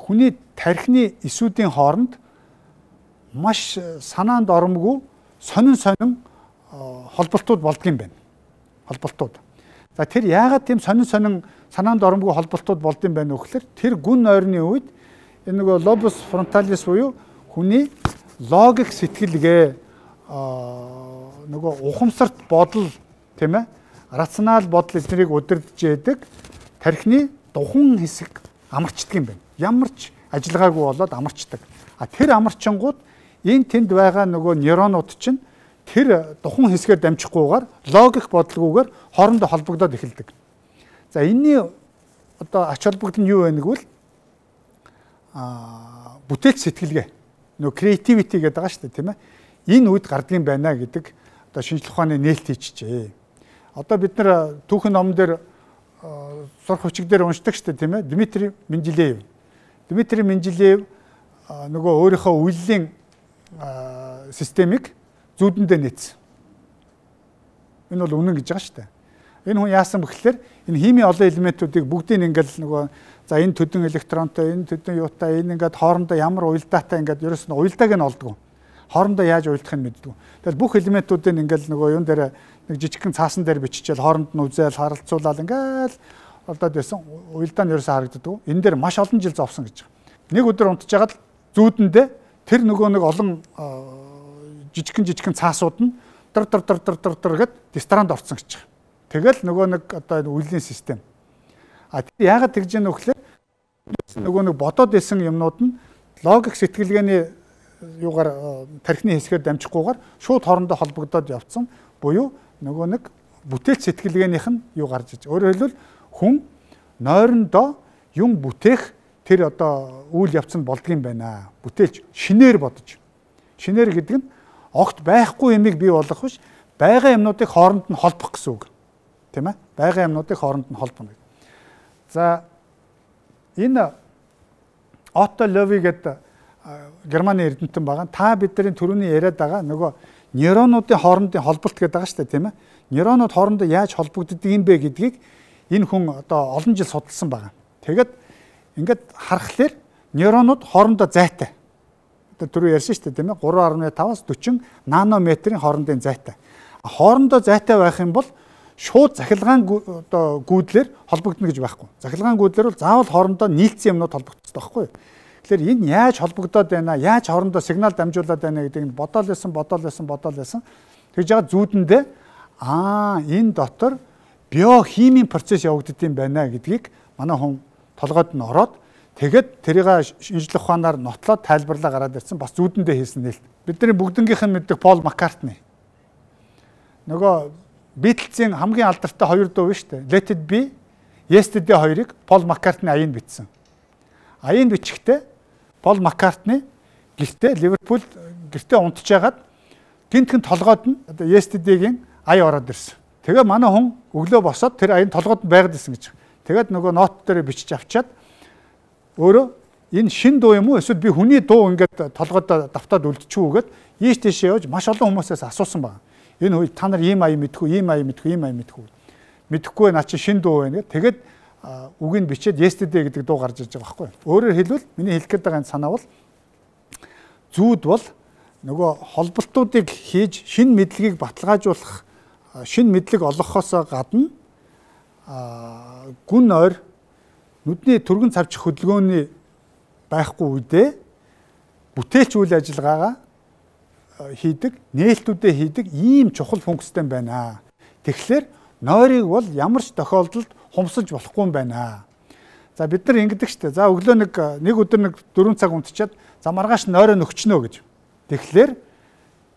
хүний тархины эсүүдийн хооронд маш санаанд оромгүй сонин сонин холболтууд болдго юм байна. Холболтууд. За тэр яагаад тийм сонин сонин санаанд оромгүй холболтууд болд юм байна вэ гэхээр тэр гүн нойрны үед энэ нөгөө лобус фронталис буюу хүний логик сэтгэлгээ нөгөө ухамсарт бодол тийм ээ рационал бодол эднийг удирдах яадаг тархины духан хэсэг амарчдаг юм байна. Ямар ч ажиллагаагүй болоод амарчдаг. А тэр амарчингууд энэ тэнд байгаа нөгөө нейронууд чинь тэр духан хэсгээр дамжихгүйгээр логик бодлогоогоор хоорондоо холбогдоод эхэлдэг. За энэний одоо ач холбогдол нь юу вэ нэгвэл а бүтээлч сэтгэлгээ нөгөө creativity гэдэг байгаа шүү дээ тийм ээ. Энэ үед гардыг юм байна гэдэг одоо шинжлэх ухааны нээлт хийчихжээ. Одоо бид нар түүхэн номон дээр сурах хүчиг дээр уншдаг шүү дээ тийм ээ. Дмитрий Менделеев. Дмитрий Менделеев нөгөө өөрийнхөө үйллийн системийг зүүдэндээ нээсэн. Энэ бол үнэн гэж байгаа шүү дээ. Энэ хүн яасан бэхлээр энэ химийн олон элементүүдийг бүгдийг ингээл нөгөө за энэ төдөн электронтой, энэ төдөн юутай, энэ ингээд хоорондоо ямар уялдаатай ингээд ерөөс нь уялдааг нь олдгоо. Хоорондоо яаж уялдахыг нь мэддэг. Тэгэл бүх элементүүдийг ингээл нөгөө юун дээр нэг жижигхэн цаасан дээр биччихэл хооронд нь үзэл харилцуулаад ингээл олдоод байсан. Уялдаа нь ерөөсөө харагддаг. Энэ дээр маш олон жил зовсон гэж байгаа. Нэг өдөр унтж жагаад зүүдэндээ тэр нөгөө нэг олон жижигхэн жижигхэн цаасууд нь дар дар дар дар дар дар гэд дистранд орсон гэж байгаа. Тэгэл нөгөө нэг одоо үеийн систем. А тэр яагаад тэгж яах вэ гэхээр нөгөө нэг бодоод исэн юмнууд нь логик сэтгэлгээний юугаар тархины хэсгээр дамжихгүйгээр шууд хоорондоо холбогдоод явцсан. Буюу нөгөө нэг бүтээлч сэтгэлгээнийх нь юу гарч иж. Өөрөөр хэлбэл хүн нойрондоо юм бүтээх тэр одоо үйл явц нь болдгийм байна. Бүтээлч шинээр бодож. Шинээр гэдэг нь огт байхгүй юмыг бий болгох биш, байгаа юмнуудыг хооронд нь холбох гэсэн үг. Тийм ээ? Байгаа юмнуудыг хооронд нь холбоно. За энэ Отто Лови гэдэг Германы эрдэмтэн байгаа. Та бидний түрүүний яриад байгаа нөгөө нейронуудын хоорондын холболт гэдэг байгаа шүү дээ, тийм ээ? Нейронууд хоорондоо яаж холбогддог юм бэ гэдгийг энэ хүн одоо олон жил судалсан байгаа. Тэгээд ингээд харахаар нейронууд хоорондоо зайтай. Одоо түрүү ярьсан шүү дээ, тийм ээ? гурван гаруй таваас дөрвөн нанометрийн хоорондын зайтай. Хоорондоо зайтай байх юм бол шууд захилгаан одоо гүйдлэр холбогдно гэж байхгүй. Захилгаан гүйдлэр бол заавал хоорондоо нийлцсэн юмнууд холбогддог байхгүй. Тэгэхээр энэ яаж холбогдоод байна, яаж хоорондоо сигнал дамжуулаад байна гэдгийг бодоол байсан, бодоол байсан, бодоол байсан. Тэгж байгаа зүүдэндээ аа энэ дотор биохимийн процесс явагддаг юм байна гэдгийг манай хүн толгойд нь ороод тэгээд тэрийг шинжлэх ухаанаар нотлоод тайлбарлаа гараад ирсэн. Бас зүүдэндээ хийсэн нээлт. Бидний бүгднгийнх нь мэддэг Пол Маккартни. Нөгөө Beatles-ийн хамгийн алдартай хоёр дуу биш үү? Let It Be, Yesterday хоёрыг Пол Маккартни аянд бичсэн. Аянд бичихтэй Пол Маккартни гэртээ Ливерпул гэртээ унтж байгаад гинтхэн толгойд нь одоо Yesterday-гийн ая ороод ирсэн. Тэгээ манай хүн өглөө босоод тэр аян толгойд байгаад ирсэн гэж. Тэгээд нөгөө нот дээр бичиж авчаад өөрөө энэ шин дуу юм уу эсвэл би хүний дуу ингээд толгойд давтаад үлдчихвүүгээд ийш тийшээ явж маш олон хүмүүсээс асуусан байна. Энэ үед та нар ийм ая мэдхүү, ийм ая мэдхүү, ийм ая мэдхүү. Мэдхгүй наа чи шин дуу байна гэдэг. Тэгээд үгийг бичээд Yesterday гэдэг дуу гарч иж байгаа байхгүй. Өөрөөр хэлбэл миний хэлэх гээд байгаа санаа бол зүүд бол нөгөө холболтуудыг хийж шин мэдлэгийг баталгаажуулах, шин мэдлэг олгохоос гадна гүн ойр нүдний түргэн цавчих хөдөлгөөний байхгүй үедээ бүтээлч үйл ажиллагаагаа хийдэг, нээлтүүдээ хийдэг ийм чухал функцтэй байна. Тэгэхээр нойрыг бол ямар ч тохиолдолд хумсаж болохгүй юм байна. За бид нар ингэдэг штэ. За өглөө нэг нэг өдөр нэг дөрвөн цаг унтчихад за маргааш нойроо нөхчнөө гэж. Тэгэхээр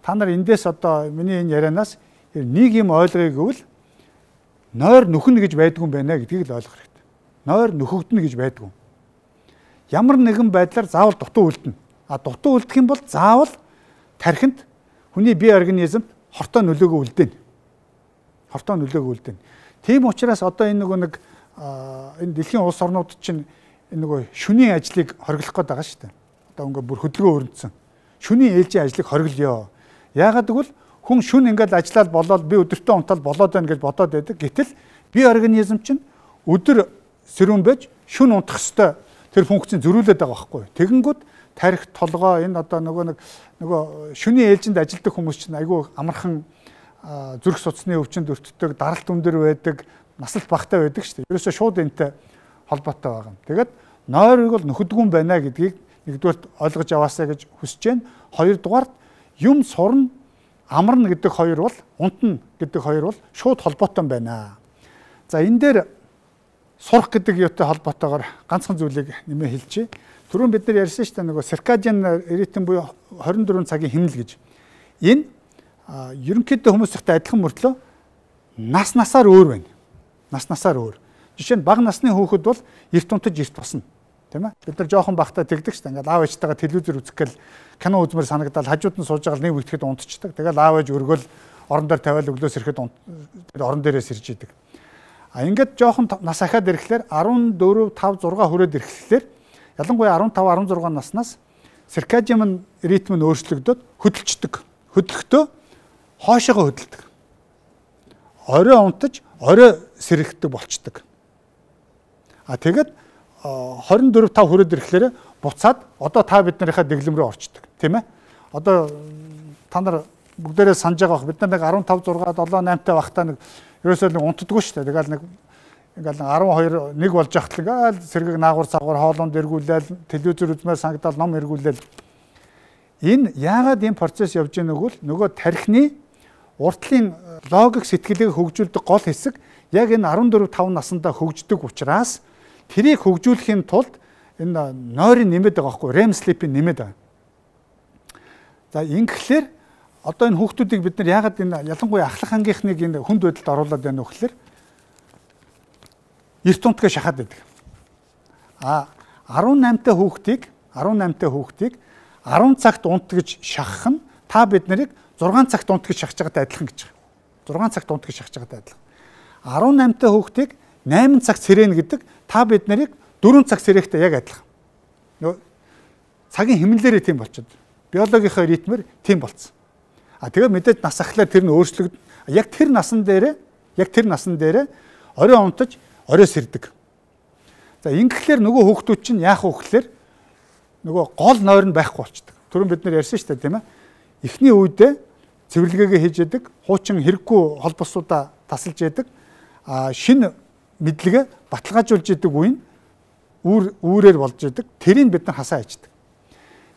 та нар эндээс одоо миний энэ ярианаас нэг юм ойлгоё гэвэл нойр нөхнө гэж байдгүй юм байна гэдгийг л ойлгох хэрэгтэй. Нойр нөхөгдөнө гэж байдгүй. Ямар нэгэн байдлаар заавал дутуу үлдэнэ. А дутуу үлдэх юм бол заавал тархинд хүний бие организмд хортой нөлөөгөө үлдээнэ. Хортой нөлөөгөө үлдээнэ. Тийм учраас одоо энэ нөгөө нэг энэ дэлхийн улс орнууд чинь энэ нөгөө шөнийн ажлыг хориглох гээд байгаа шүү дээ. Одоо ингээ бүр хөдөлгөөн өрнөцсөн. Шөнийн ээлжийн ажлыг хориглоё. Яагаад гэвэл хүн шүн ингээд ажиллаад болоод би өдөртөө унтаад болоод байна гэж бодоод байдаг. Гэтэл бие организм чинь өдөр сэрүүн байж шүн унтах ёстой тэр функцийг зөрүүлээд байгаа байхгүй. Тэгэнгүүт тарих толгоо энэ одоо нөгөө нэг нөгөө шөнийн ээлжинд ажилладаг хүмүүс чинь айгүй амархан зүрх судасны өвчнөд өртдөг, даралт өндөр байдаг, насалт багтаа байдаг шүү дээ. Ерөөсөө шууд энэтэй холбоотой байгаа юм. Тэгээд нойрыг бол нөхөдгүн байна гэдгийг нэгдүгээр ойлгож аваасаа гэж хүсэж байна. Хоёрдугаар юм сурна, амарна гэдэг хоёр бол унтна гэдэг хоёр бол шууд холбоотой байна. За энэ дээр сурах гэдэг юутай холбоотойгоор ганцхан зүйлийг нэмээ хэлчихье. Түрүүн бид нар ярьсан шүү дээ нөгөө circadian rhythm буюу хорин дөрвөн цагийн хэмнэл гэж. Энэ ерөнхийдөө хүмүүстэй адилхан мөртлөө нас насаар өөр байна. Нас насаар өөр. Жишээ нь бага насны хүүхэд бол эрт унтаж эрт босно. Тийм ээ. Бид нар жоохон багтаа тэгдэг шүү дээ. Ингээл аав ээжтэйгээ телевизээр үзэх гэл кино үзмээр санагдал хажууд нь сууж байгаа нэг үтгэхэд унтчихдаг. Тэгэл аав ээж өргөл орон дээр тавиал өглөөс ирэхэд орон дээрээс ирж идэг. А ингээд жоохон нас ахаад ирэхлээр арван дөрөв, тав, зурга хүрээд ирэхлээр ялангуяа арван тав, арван зурга наснаас циркадиан ритм нь өөрчлөгдөд хөдөлчдөг. Хөдлөхдөө хоошоогоо хөдөлдөг. Орой унтаж, орой сэрэгдэг болчдөг. А тэгээд хорин дөрөв, тав хүрээд ирэхлээр буцаад одоо та биднийхээ дэглэм рүү орчдөг, тийм ээ? Одоо та нар бүгдээрээ санаж байгаа бох бид нар нэг арван тав, зурга, долоо, наймтай багтаа нэг ерөөсөө нэг унтдаггүй шүү дээ. Тэгэл нэг ингээл арван хоёр нэг болж ахтал ингээл сэргийг наагур цагуур хоолунд эргүүлээл, телевизээр үзмээр санагдал ном эргүүлээл. Энэ яагаад энэ процесс явж байгааг нь бол нөгөө тархины уртлын логик сэтгэлийг хөгжүүлдэг гол хэсэг яг энэ арван дөрөв, тав наснда хөгждөг учраас тэрийг хөгжүүлэхийн тулд энэ нойрын нэмээд байгаа байхгүй REM sleep-ийн нэмээд байгаа. За ингэхлээр одоо энэ хүүхдүүдийг бид нар яагаад энэ ялангуяа ахлах ангийнхныг энэ хүнд байдалд оруулаад байна вэ гэхээр эрт унтгаа шахаад байдаг. А арван наймтай хүүхдийг арван наймтай хүүхдийг арван цагт унт гэж шахах нь та бид нарыг зургаан цагт унт гэж шахаж байгаатай адилхан гэж байна. зургаан цагт унт гэж шахаж байгаатай адилхан. арван наймтай хүүхдийг найман цагт сэрэнэ гэдэг та бид нарыг дөрвөн цаг сэрэхтэй яг адилхан. Нөгөө цагийн хэмнэлээрээ тийм болчиход. Биологийнхаа ритмээр тийм болцсон. А тэгээд мэдээж нас ахлаар тэр нь өөрчлөгд. Яг тэр насан дээрээ яг тэр насан дээрээ орой унтаж, орой сэрдэг. За ингэхлээр нөгөө хүүхдүүд чинь яах вэ гэхээр нөгөө гол нойр нь байхгүй болчихдог. Түрүүн бид нар ярьсан шүү дээ, тийм ээ. Эхний үедээ цэвэрлэгээгээ хийж яадаг, хуучин хэрэггүй холбосуудаа тасалж яадаг. А шинэ мэдлэгээ баталгаажуулж яадаг үе нь үүр үүрээр болж яадаг. Тэрийг бид нар хасаа хийдэг.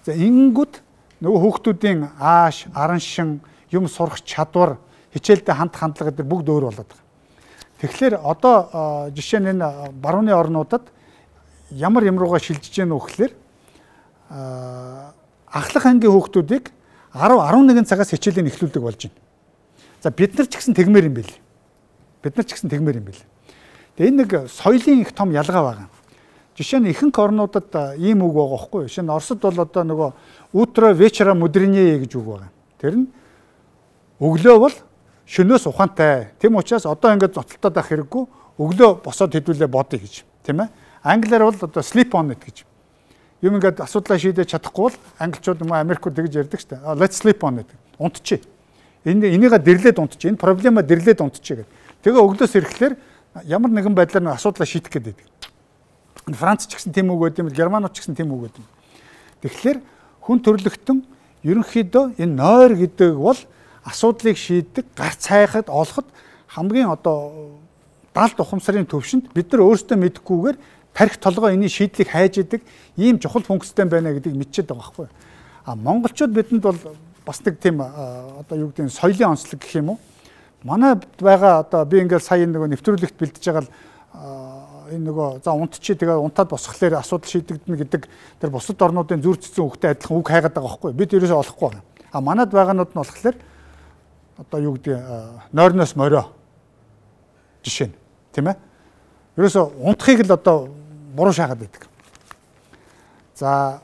За ингэнгүүт нөгөө хүүхдүүдийн ааш, аран шин, юм сурах чадвар, хичээлдээ хандах хандлага гэдэг бүгд өөр болоод байгаа. Тэгэхээр одоо жишээ нь энэ барууны орнуудад ямар юм руугаа шилжиж гэнэ вэ гэхээр ахлах ангийн хүүхдүүдийг арав, арван нэгэн цагаас хичээлээ эхлүүлдэг болж байна. За бид нар ч гэсэн тэгмээр юм байл. Бид нар ч гэсэн тэгмээр юм байл. Тэгээ энэ нэг соёлын их том ялгаа байгаа. Жишээ нь ихэнх орнуудад ийм үг байгаа байхгүй юу? Жишээ нь Оросд бол одоо нөгөө утро вечера мудренее гэж үг байгаа. Тэр нь өглөө бол шөнөөс ухаантай. Тэм учраас одоо ингээд зоцолтоод авах хэрэггүй. Өглөө босоод хэдүүлээ бодъё гэж. Тийм ээ. Англиар бол одоо sleep on it гэж. Юм ингээд асуудлаа шийдэж чадахгүй бол англичууд юм Америкууд тэгж ярьдаг шүү дээ. Let's sleep on it. Унтчих. Энэ энийгээ дэрлээд унтчих. Энэ проблема дэрлээд унтчих гэдэг. Тэгээ өглөөс ирэхлээр ямар нэгэн байдлаар нэг асуудлаа шийдэх гэдэг. Франц ч гэсэн тийм үг байд юм, Германууд ч гэсэн тийм үг байд юм. Тэгэхээр хүн төрлөختөн ерөнхийдөө энэ нойр гэдэг бол асуудлыг шийддэг, гарц хайхад олоход хамгийн одоо даалд ухамсарын төвшөнд бид нар өөрсдөө мэдэхгүйгээр тарих толгой энэ шийдлийг хайж идэг ийм чухал функцтэй байна гэдгийг мэдчихэд байгаа байхгүй. А монголчууд бидэнд бол бас нэг тийм одоо юу гэдэг нь соёлын онцлог гэх юм уу? Манай байгаа одоо би ингээд сая нэг нэвтрүүлэгт бэлдэж байгаа энэ нөгөө за унтчи тэгээ унтаад босхолоор асуудал шийдэгдэнэ гэдэг тэр бусад орнуудын зүр цэцэн хөвгтэй адилхан үг хайгаад байгаа байхгүй. Бид ерөөсөө олохгүй байгаа. А манад байгаанууд нь болохоор одоо юу гэдэг нойрноос морио жишээ нь тийм ээ. Ерөөсөө унтахыг л одоо буруу шаагаад байдаг. За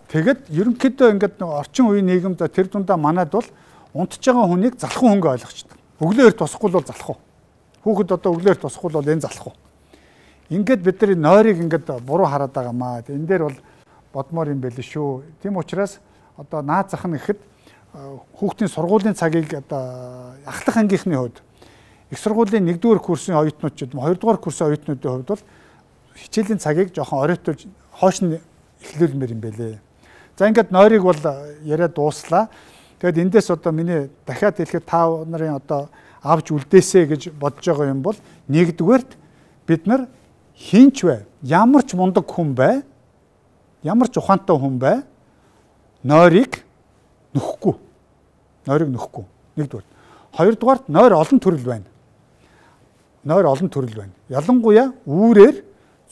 тэгэд ерөнхийдөө ингээд орчин үеийн нийгэмд тэр дундаа манад бол унтж байгаа хүнийг залхуу хөнгө ойлгочтой. Өглөө эрт босхгүй бол залхуу. Хүүхэд одоо өглөө эрт босхгүй бол энэ залхуу. Ингээд бид нар нойрыг ингээд буруу хараад байгаамаа. Энэ дээр бол бодмоор юм байл шүү. Тийм учраас одоо наад зах нь гэхэд хүүхдийн сургуулийн цагийг одоо ахлах ангийнхны хувьд их сургуулийн нэгдүгээр курсын оюутнууд, хоёрдугаар курсын оюутнуудын хувьд бол хичээлийн цагийг жоохон оройтуулж хоош нь эхлүүлмээр юм байлээ. За ингээд нойрыг бол яриад дууслаа. Тэгэд эндээс одоо миний дахиад хэлэхэд та нарын одоо авч үлдээсэ гэж бодож байгаа юм бол нэгдүгээрт бид нар хинч бай, ямар ч мундаг хүн бай, ямар ч ухаантай хүн бай, нойрыг нөхгүй. Нойрыг нөхгүй. Нэгдүгээр. Хоёрдугаарт нойр олон төрөл байна. Нойр олон төрөл байна. Ялангуяа үүрээр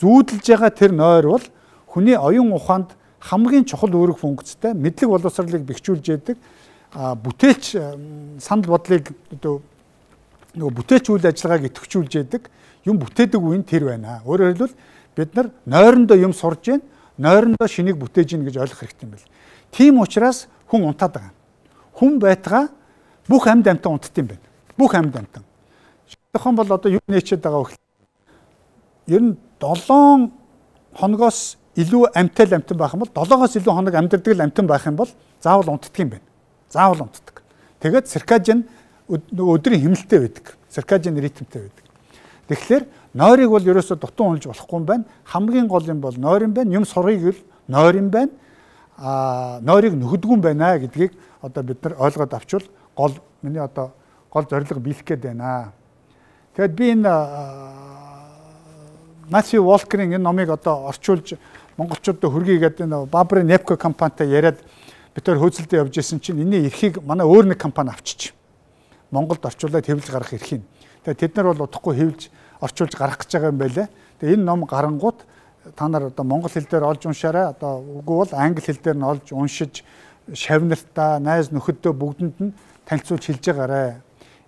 зүүдэлж байгаа тэр нойр бол хүний оюун ухаанд хамгийн чухал үүрэг функцтэй, мэдлэг боловсролыг бэхжүүлж яадаг, бүтээлч санал бодлыг одоо нөгөө бүтээлч үйл ажиллагааг идэвхжүүлж яадаг юм бүтээдэг үе нь тэр байна. Өөрөөр хэлбэл бид нар нойрондоо юм сурж гин, нойрондоо шинийг бүтээж гин гэж ойлгох хэрэгтэй юм байна. Тийм учраас хүн унтаад байгаа. Хүн байтгаа бүх амьд амьтан унтд юм байна. Бүх амьд амьтан. Шийдхэн бол одоо юу нээчээд байгаа вэ? Ер нь долоон хоногоос илүү амьтай л амьтан байх юм бол долоогоос илүү хоног амьдардаг л амьтан байх юм бол заавал унтдаг юм байна. Заавал унтдаг. Тэгээд циркадиан өдрийн хэмнэлттэй байдаг. Циркадиан ритмтэй байдаг. Тэгэхээр нойрыг бол ерөөсө дутуу унж болохгүй юм байна. Хамгийн гол юм бол нойр юм байна. Юм сургыг л нойр юм байна. Аа нойрыг нөхөдгүн байна гэдгийг одоо бид нар ойлгоод авчвал гол миний одоо гол зорилго биелэх гээд байна. Тэгэд би энэ Матthew Walker-ийн энэ номыг одоо орчуулж монголчуудад хүргийгээд энэ Бабрын Непко компанитай яриад бид төр хөөцөлдөө явж исэн чинь энэний эрхийг манай өөр нэг компани авчиж Монголд орчуулаад хэвлэж гаргах эрхийг. Тэгээд тэд нар бол удахгүй хэвлэж орчуулж гаргах гэж байгаа юм байлаа. Тэгээд энэ ном гарангууд та нар одоо монгол хэл дээр олж уншаарай. Одоо үгүй бол англи хэл дээр нь олж уншиж шавнартаа, найз нөхөдөө бүгдэнд нь танилцуулж хэлж байгаарай.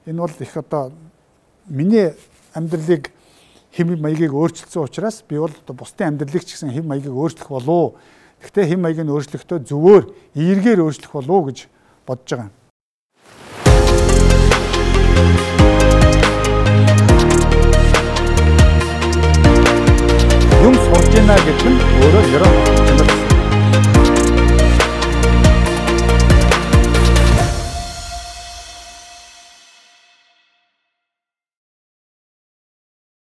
Энэ бол их одоо миний амьдралыг хэм маягийг өөрчилсөн учраас би бол бусдын амьдралыг ч гэсэн хэм маягийг өөрчлөх болов. Гэхдээ хэм маягийг өөрчлөхдөө зөвөр эергээр өөрчлөх болов гэж бодож байгаа.